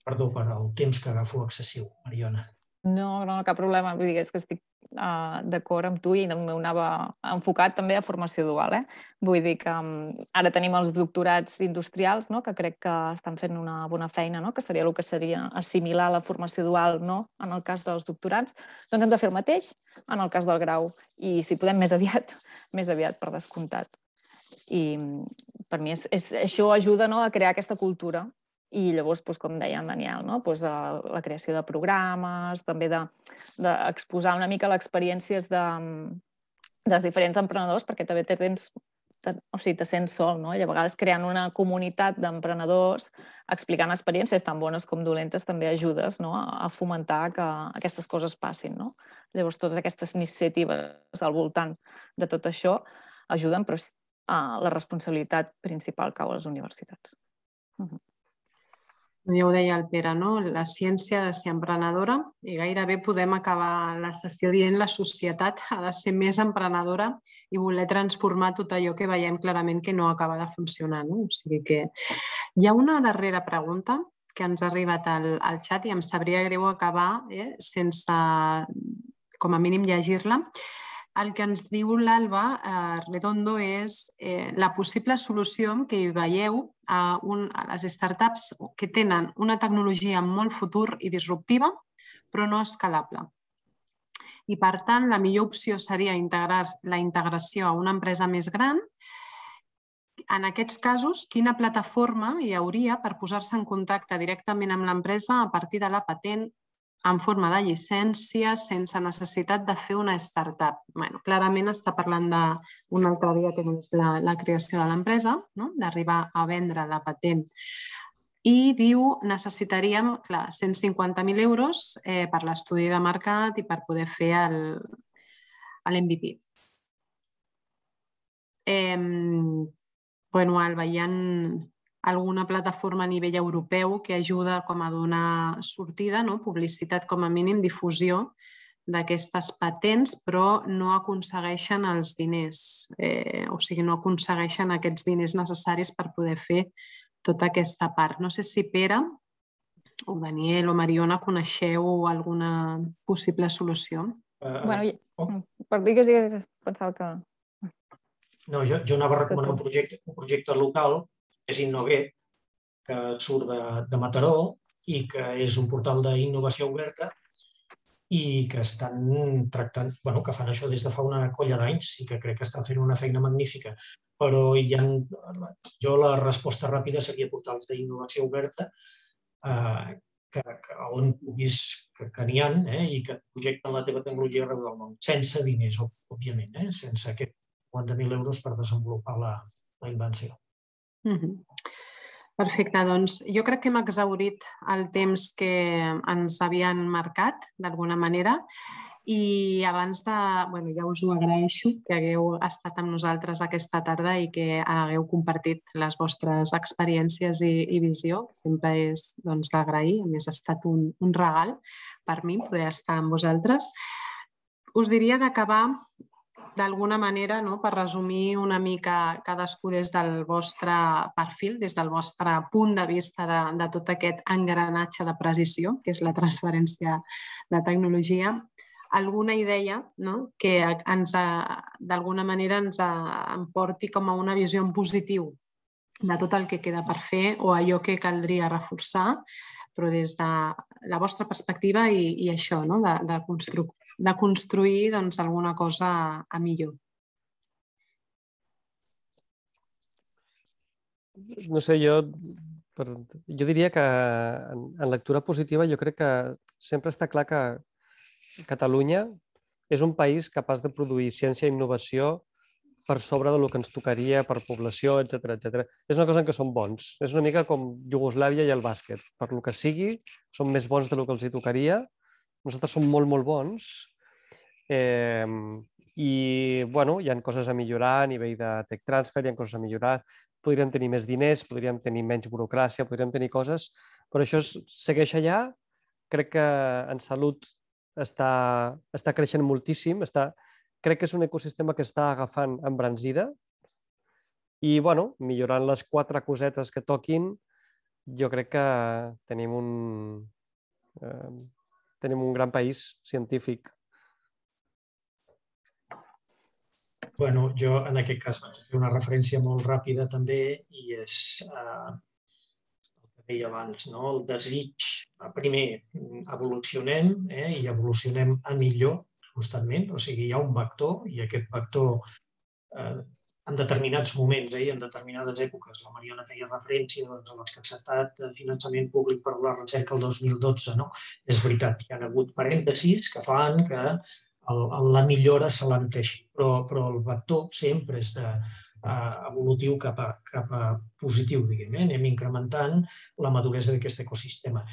S3: Perdó per el temps que agafo excessiu, Mariona.
S4: No, no, cap problema. Vull dir, és que estic uh, d'acord amb tu i el meu anava enfocat també a formació dual. Eh? Vull dir que um, ara tenim els doctorats industrials, no? Que crec que estan fent una bona feina, no? Que seria el que seria assimilar la formació dual, no? En el cas dels doctorats. Doncs hem de fer el mateix en el cas del grau i si podem més aviat, més aviat per descomptat. I per mi és, és, això ajuda, no? A crear aquesta cultura. I llavors, doncs, com deia en Daniel, no? Doncs, la creació de programes, també d'exposar de, una mica les experiències de, dels diferents emprenedors, perquè també te, tens, te, o sigui, te sents sol, no? I a vegades creant una comunitat d'emprenedors, explicant experiències tan bones com dolentes, també ajudes, no? A fomentar que aquestes coses passin. No? Llavors, totes aquestes iniciatives al voltant de tot això ajuden, però uh, la responsabilitat principal cau a les universitats. Uh -huh.
S2: Ja ho deia el Pere, no? La ciència ha de ser emprenedora i gairebé podem acabar la sessió dient la societat ha de ser més emprenedora i voler transformar tot allò que veiem clarament que no acaba de funcionar. No? O sigui que hi ha una darrera pregunta que ens ha arribat al, al xat i em sabria greu acabar eh, sense, com a mínim, llegir-la. El que ens diu l'Alba eh, Redondo és eh, la possible solució que hi veieu a, un, a les startups que tenen una tecnologia amb molt futur i disruptiva, però no escalable. I, per tant, la millor opció seria integrar la integració a una empresa més gran. En aquests casos, quina plataforma hi hauria per posar-se en contacte directament amb l'empresa a partir de la patent en forma de llicència, sense necessitat de fer una startup? Bueno, clarament està parlant d'una altra via que és la, la creació de l'empresa, no? D'arribar a vendre la patent. I diu, necessitaríem, clar, cent cinquanta mil euros eh, per l'estudi de mercat i per poder fer l'M V P. Eh, bueno, Alba, hi ha alguna plataforma a nivell europeu que ajuda com a donar sortida, no? Publicitat com a mínim, difusió d'aquestes patents, però no aconsegueixen els diners, eh, o sigui, no aconsegueixen aquests diners necessaris per poder fer tota aquesta part. No sé si Pere o Daniel o Mariona coneixeu alguna possible solució.
S4: Uh, bueno, oh. Per dir que sí, pensava que...
S3: No, jo, jo anava a recomanar un projecte, un projecte local, és Innovet, que surt de, de Mataró i que és un portal d'innovació oberta i que estan tractant, bueno, que fan això des de fa una colla d'anys i que crec que estan fent una feina magnífica. Però hi ha, jo la resposta ràpida seria portals d'innovació oberta eh, que, que, on puguis, que, que n'hi ha eh, i que projecten la teva tecnologia arreu del món, sense diners, òbviament, eh, sense aquests cinquanta mil euros per desenvolupar la, la invenció.
S2: Mm-hmm. Perfecte, doncs jo crec que hem exhaurit el temps que ens havien marcat, d'alguna manera, i abans de... Bueno, ja us ho agraeixo, que hagueu estat amb nosaltres aquesta tarda i que hagueu compartit les vostres experiències i, i visió, que sempre és doncs, d'agrair. A més, ha estat un, un regal per mi poder estar amb vosaltres. Us diria d'acabar d'alguna manera, no? Per resumir una mica cadascú des del vostre perfil, des del vostre punt de vista de, de tot aquest engranatge de precisió, que és la transferència de tecnologia, alguna idea, no? Que ens d'alguna manera ens emporti com a una visió en positiu de tot el que queda per fer o allò que caldria reforçar, però des de la vostra perspectiva i, i això, no? de, de, constru de construir doncs, alguna cosa a millor.
S5: No sé, jo, per, jo diria que en, en lectura positiva jo crec que sempre està clar que Catalunya és un país capaç de produir ciència i innovació per sobre del que ens tocaria per població, etcètera, etcètera. És una cosa en què som bons. És una mica com Iugoslàvia i el bàsquet. Per lo que sigui, som més bons del que els hi tocaria. Nosaltres som molt, molt bons. Eh, I, bueno, hi ha coses a millorar a nivell de tech transfer, hi ha coses a millorar. Podríem tenir més diners, podríem tenir menys burocràcia, podríem tenir coses, però això segueix allà. Crec que en salut està, està creixent moltíssim. Està, crec que és un ecosistema que està agafant embranzida i, bueno, millorant les quatre cosetes que toquin, jo crec que tenim un... Eh, tenim un gran país científic.
S3: Bueno, jo en aquest cas vaig fer una referència molt ràpida també i és eh, el que deia abans, no? El desig. Primer, evolucionem eh, i evolucionem a millor constantment, o sigui, hi ha un vector i aquest vector eh, en determinats moments eh, i en determinades èpoques, la Mariona feia referència doncs, a l'escassetat de finançament públic per a la recerca el dos mil dotze, no? És veritat, hi ha hagut parèntesis que fan que el, la millora s'alenteixi, però, però el vector sempre és de, uh, evolutiu cap a, cap a positiu, diguem, eh? Anem incrementant la maduresa d'aquest ecosistema.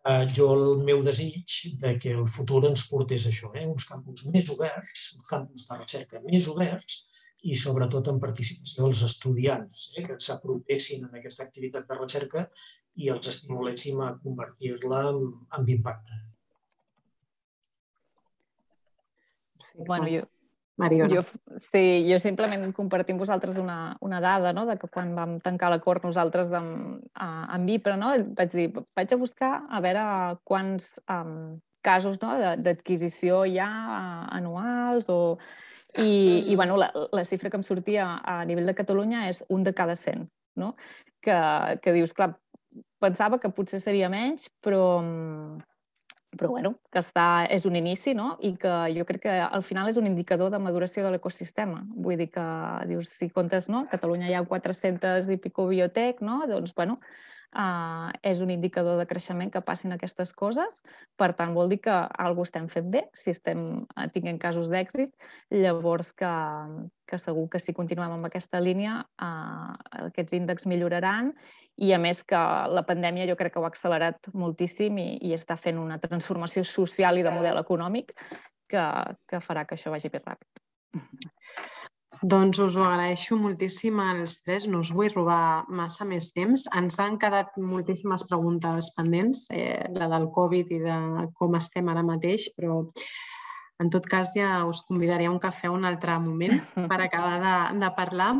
S3: Uh, jo el meu desig de que el futur ens portés això, eh? Uns campus més oberts, uns campus de recerca més oberts i sobretot en participació dels estudiants, eh? Que s'apropessin en aquesta activitat de recerca i els estimuléssim a convertir-la en, en impacte.
S4: Bueno, jo,
S2: Mariona.
S4: jo, sí, jo simplement compartir amb vosaltres una, una dada, no? De que quan vam tancar l'acord nosaltres amb, amb IPRA, no? Vaig dir, vaig a buscar a veure quants um, casos, no? d'adquisició hi ha uh, anuals o... I, i bueno, la, la xifra que em sortia a nivell de Catalunya és un de cada cent, no? Que, que dius, clar, pensava que potser seria menys, però... però bueno, que està, és un inici, no? I que jo crec que al final és un indicador de maduració de l'ecosistema. Vull dir que, dius, si comptes, no? A Catalunya hi ha quatre-centes i pico biotec, no? Doncs, bueno, uh, és un indicador de creixement que passin aquestes coses. Per tant, vol dir que alguna cosa estem fent bé, si estem tinguent casos d'èxit. Llavors, que, que segur que si continuem amb aquesta línia, uh, aquests índexs milloraran. I, a més, que la pandèmia jo crec que ho ha accelerat moltíssim i, i està fent una transformació social i de model econòmic que, que farà que això vagi més ràpid.
S2: Doncs us ho agraeixo moltíssim als tres, no us vull robar massa més temps. Ens han quedat moltíssimes preguntes pendents, eh, la del Covid i de com estem ara mateix, però en tot cas ja us convidaré a un cafè un altre moment per acabar de, de parlar,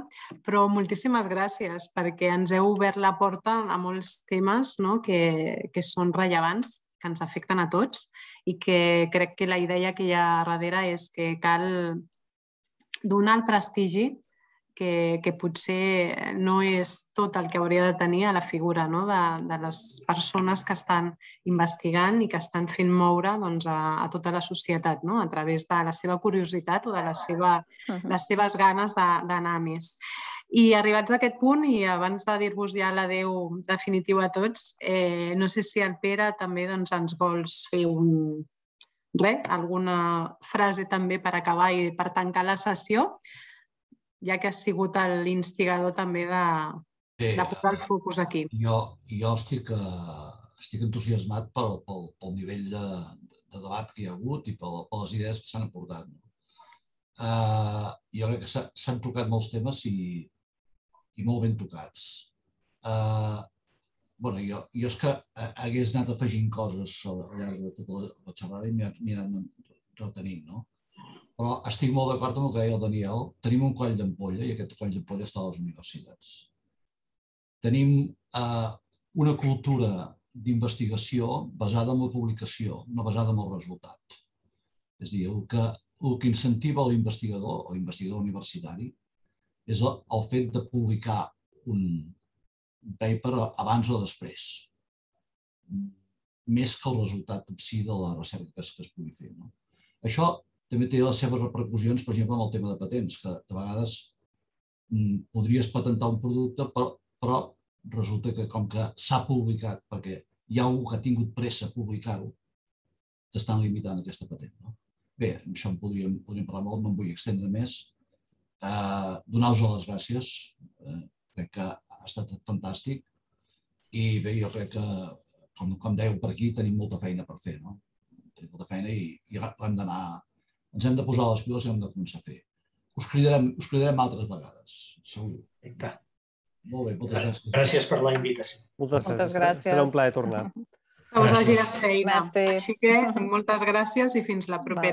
S2: però moltíssimes gràcies perquè ens heu obert la porta a molts temes, no? que, que són rellevants, que ens afecten a tots i que crec que la idea que hi ha darrere és que cal donar el prestigi que, que potser no és tot el que hauria de tenir a la figura, no? de, de les persones que estan investigant i que estan fent moure doncs, a, a tota la societat, no? A través de la seva curiositat o de la seva, les seves ganes d'anar a més. I arribats a aquest punt, i abans de dir-vos ja l'adeu definitiu a tots, eh, no sé si el Pere també doncs, ens vols fer un... res, alguna frase també per acabar i per tancar la sessió, ja que has sigut l'instigador també de,
S1: Bé,
S2: de posar el focus aquí.
S1: Jo, jo estic, uh, estic entusiasmat pel, pel, pel nivell de, de debat que hi ha hagut i pel, per les idees que s'han aportat. Uh, jo crec que s'han tocat molts temes i, i molt ben tocats. Uh, bueno, jo, jo és que hagués anat afegint coses al llarg de tota la, la xerrada i m'hi han retenint, no? Però estic molt d'acord amb el que deia el Daniel. Tenim un coll d'ampolla i aquest coll d'ampolla està a les universitats. Tenim eh, una cultura d'investigació basada en la publicació, no basada en el resultat. És a dir, el que, el que incentiva l'investigador o investigador universitari és el, el fet de publicar un paper abans o després, més que el resultat en si de la recerca que es, que es pugui fer. No? Això també té les seves repercussions, per exemple, amb el tema de patents, que de vegades mm, podries patentar un producte, però, però resulta que com que s'ha publicat, perquè hi ha algú que ha tingut pressa a publicar-ho, t'estan limitant aquesta patent. No? Bé, això en podríem, podríem parlar molt, no em vull extendre més. Eh, Donar-vos les gràcies, eh, crec que ha estat fantàstic i bé, jo crec que, com, com dèieu per aquí, tenim molta feina per fer, no? Tenim molta feina i, i hem d'anar, ens hem de posar les piles i hem de començar a fer. Us cridarem, us cridarem altres vegades, segur.
S3: Perfecte.
S1: Molt bé, moltes gràcies.
S3: Gràcies per la invitació.
S5: Moltes,
S4: Moltes
S5: gràcies.
S4: gràcies.
S5: Serà un plaer tornar.
S2: Que us hagi de feina.
S4: Merci.
S2: Així que moltes gràcies i fins la propera.